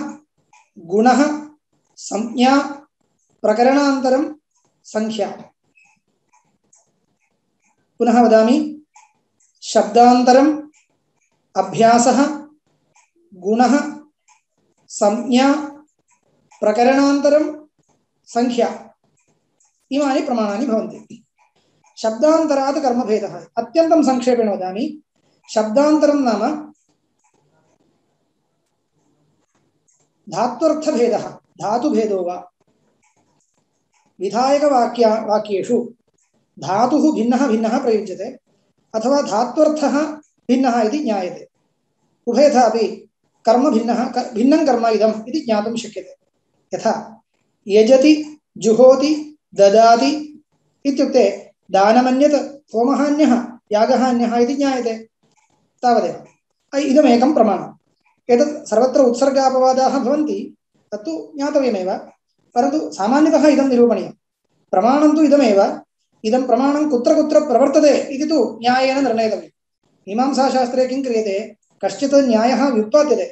Speaker 2: गुणः, संज्ञा, प्रकरणान्तरं, संख्या। पुनः वदामि। शब्दान्तरम्, अभ्यासः, गुणः, संज्ञा, प्रकरणान्तरं, संख्या। इमानि प्रमाणानि भवन्ति। शब्दान्तरात् कर्मभेदः अत्यन्तं संक्षेपेण वदामि। शब्दान्तरं नाम धात्वर्थभेदः, धातुभेदो वा। विधायकवाक्येषु धातुः भिन्नः भिन्नः प्रयुज्यते, अथवा धात्वर्थः भिन्नः इति ज्ञायते। उभयथा अपि कर्म भिन्नं कर्म इदम् इति ज्ञातुं शक्यते। यथा यजति जुहोति ददाति इत्युक्ते दानमन्यत् होमहान्यः यागहान्यः इति ज्ञायते तावदेव। इदमेकं प्रमाणम्। एतत् सर्वत्र उत्सर्गापवादाः भवन्ति तत्तु ज्ञातव्यमेव, परन्तु सामान्यतः इदं निरूपणीयं। प्रमाणं तु इदमेव। इदं प्रमाणं कुत्र कुत्र प्रवर्तते इति तु न्यायेन निर्णेतव्यं। मीमांसाशास्त्रे किं क्रियते, कश्चित् न्यायः व्युत्पाद्यते,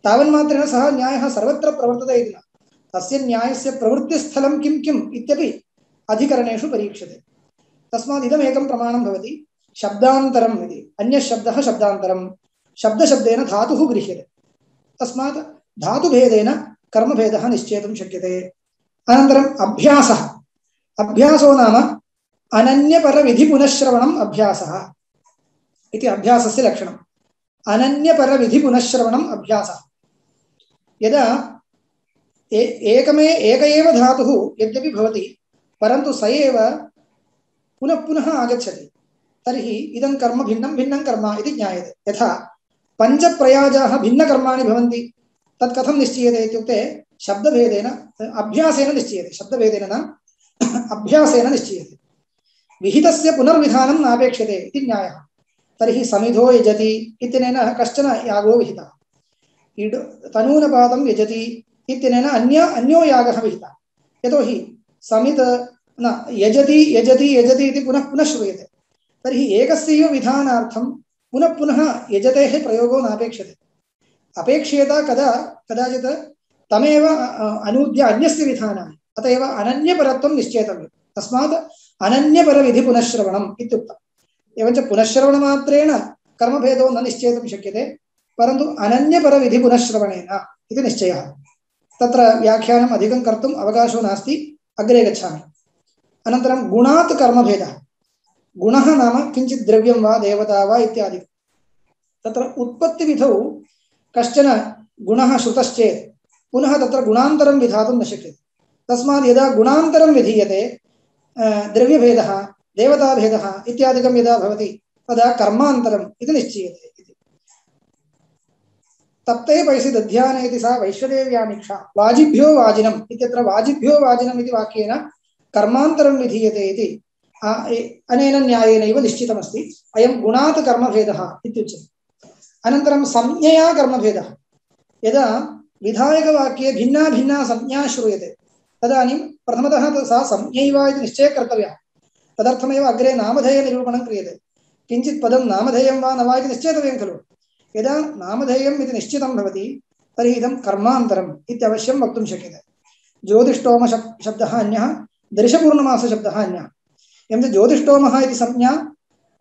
Speaker 2: तावन्मात्रेण सः न्यायः सर्वत्र प्रवर्तते इति न, तस्य न्यायस्य प्रवृत्तिस्थलं किं किम् इत्यपि अधिकरणेषु परीक्ष्यते। तस्मात् इदमेकं प्रमाणं भवति। शब्दान्तरम् इति अन्यः शब्दः शब्दान्तरं, शब्दशब्देन धातुः गृह्यते, तस्मात् धातुभेदेन कर्मभेदः निश्चेतुं शक्यते। अनन्तरम् अभ्यासः। अभ्यासो नाम अनन्यपरविधिपुनश्रवणम् अभ्यासः इति अभ्यासस्य लक्षणम्। अनन्यपरविधिपुनश्रवणम् अभ्यासः। यदा एक एव धातुः यद्यपि भवति, परन्तु स एव पुनः पुनः आगच्छति, तर्हि इदं कर्म भिन्नं भिन्नं कर्म इति ज्ञायते। यथा पञ्चप्रयाजाः भिन्नकर्माणि भवन्ति, तत् कथं निश्चीयते इत्युक्ते शब्दभेदेन अभ्यासेन निश्चीयते। शब्दभेदेन न, अभ्यासेन निश्चीयते। विहितस्य पुनर्विधानं नापेक्ष्यते इति न्यायः। तर्हि समिधो यजति इत्यनेन कश्चन यागो विहितः, तनूनपातं यजति इत्यनेन अन्यो यागः विहितः। यतोहि समित न यजति यजति यजति इति पुनः पुनः श्रूयते, तर्हि एकस्यैव विधानार्थं पुनः पुनः यजतेः प्रयोगो नापेक्ष्यते। अपेक्ष्येत कदा कदाचित् तमेव अनूद्य अन्यस्य विधानानि, अतएव अनन्यपरत्वं निश्चेतव्यं। तस्मात् अनन्यपरविधिपुनश्रवणम् इत्युक्तम्। एवञ्च पुनश्रवणमात्रेण कर्मभेदो न निश्चेतुं शक्यते, परन्तु अनन्यपरविधिपुनश्रवणेन इति निश्चयः। तत्र व्याख्यानम् अधिकं कर्तुम् अवकाशो नास्ति, अग्रे गच्छामि। अनन्तरं गुणात् कर्मभेदः। गुणः नाम किञ्चित् द्रव्यं वा देवता वा इत्यादि। तत्र उत्पत्तिविधौ कश्चन गुणः श्रुतश्चेत् पुनः तत्र गुणान्तरं विधातुं न शक्यते। तस्मात् यदा गुणान्तरं विधीयते, द्रव्यभेदः देवताभेदः इत्यादिकं यदा भवति, तदा कर्मान्तरम् इति निश्चीयते। तप्ते पैसि दध्यानेति सा वैश्वदेव्यामीक्षा वाजिभ्यो वाजिनम् इत्यत्र वाजिभ्यो वाजिनम् इति वाक्येन कर्मान्तरं विधीयते इति अनेन न्यायेनैव निश्चितमस्ति। अयं गुणात् कर्मभेदः इत्युच्यते। अनन्तरं संज्ञया कर्मभेदः। यदा विधायकवाक्ये भिन्ना भिन्ना संज्ञा श्रूयते, तदानीं प्रथमतः सा संज्ञैव इति निश्चयः कर्तव्यः। तदर्थमेव अग्रे नामधेयनिरूपणं क्रियते। किञ्चित् पदं नामधेयं वा न वा इति निश्चेतव्यं खलु। यदा नामधेयम् इति निश्चितं भवति, तर्हि इदं कर्मान्तरम् इत्यवश्यं वक्तुं शक्यते। ज्योतिष्टोम शब्दः अन्यः, दर्शपूर्णमासशब्दः अन्यः। एवं ज्योतिष्टोमः इति संज्ञा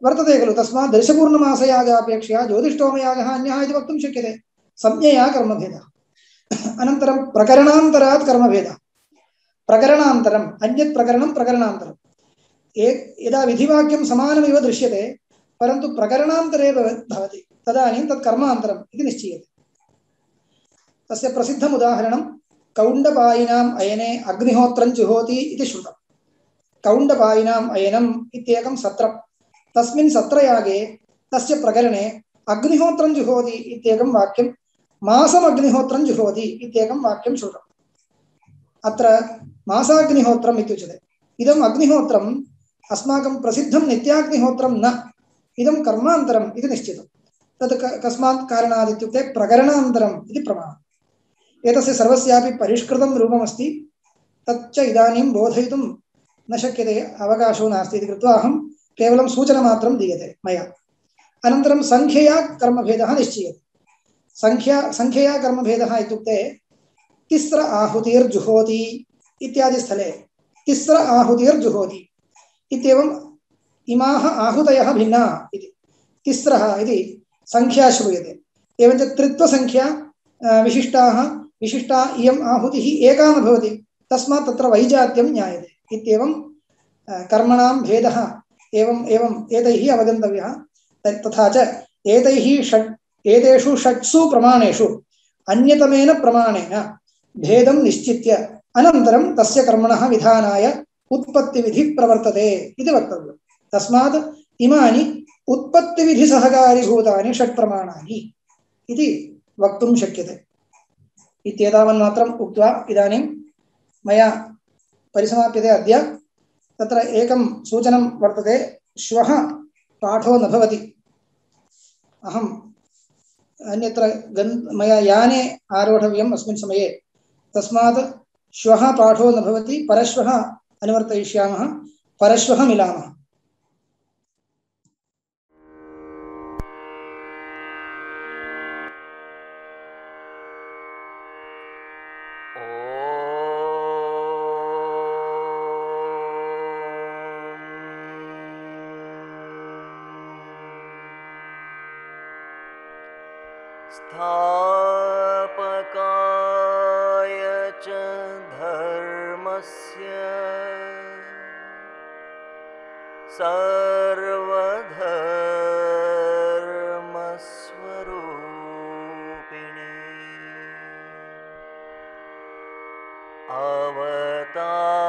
Speaker 2: वर्तते खलु, तस्मात् दर्शपूर्णमासयागापेक्षया ज्योतिष्टोमयागः अन्यः इति वक्तुं शक्यते। संज्ञया कर्मभेदः। अनन्तरं प्रकरणान्तरात् कर्मभेदः। प्रकरणान्तरम् अन्यत् प्रकरणं प्रकरणान्तरम्। यदा विधिवाक्यं समानमिव दृश्यते, परन्तु प्रकरणान्तरे भवति, तदानीं तत् कर्मान्तरम् इति निश्चीयते। तस्य प्रसिद्धम् उदाहरणं कौण्डपायिनाम् अयने अग्निहोत्रं जुहोति इति श्रुतम्। कौण्डपायिनाम् अयनम् इत्येकं सत्रं, तस्मिन् सत्रयागे तस्य प्रकरणे अग्निहोत्रं जुहोति इत्येकं वाक्यं, मासम् अग्निहोत्रं जुहोति इत्येकं वाक्यं श्रुतम्। अत्र मासाग्निहोत्रम् इत्युच्यते। इदम् अग्निहोत्रम् अस्माकं प्रसिद्धं नित्याग्निहोत्रं न, इदं कर्मान्तरम् इति निश्चितं। तत् कस्मात् कारणात् इत्युक्ते प्रकरणान्तरम् इति प्रमाणम्। एतस्य सर्वस्यापि परिष्कृतं रूपमस्ति, तच्च इदानीं बोधयितुं न शक्यते, अवकाशो नास्ति इति कृत्वा अहं केवलं सूचनमात्रं दीयते मया। अनन्तरं संख्यया कर्मभेदः निश्चीयते। संख्यया कर्मभेदः इत्युक्ते तिस्र आहुतिर्जुहोति इत्यादि स्थले तिस्र आहुतिर्जुहोति इत्येवम् इमाः आहूतयः भिन्नाः इति तिस्रः इति संख्या श्रूयते। एवञ्च त्रित्वसंख्या विशिष्टा इयम् आहुतिः एका न भवति, तस्मात् तत्र वैजात्यं ज्ञायते इत्येवं कर्मणां भेदः एवम् एतैः अवगन्तव्यः। तथा च एतेषु षट्सु प्रमाणेषु अन्यतमेन प्रमाणेन भेदं निश्चित्य अनन्तरं तस्य कर्मणः विधानाय उत्पत्तिविधिः प्रवर्तते इति वक्तव्यम्। तस्मात् इमानि उत्पत्तिविधिसहकारीभूतानि षट्प्रमाणानि इति वक्तुं शक्यते। इत्येतावन्मात्रम् उक्त्वा इदानीं मया परिसमाप्यते अद्य। तत्र एकं सूचनं वर्तते, श्वः पाठो न भवति। अहम् अन्यत्र मया याने आरोढव्यम् अस्मिन् समये, तस्मात् श्वः पाठो न भवति, परश्वः अनुवर्तयिष्यामः। परश्वः मिलामः।
Speaker 1: स्थापकाय च धर्मस्य सर्वधर्मस्वरूपिणे अवतारवरिष्ठाय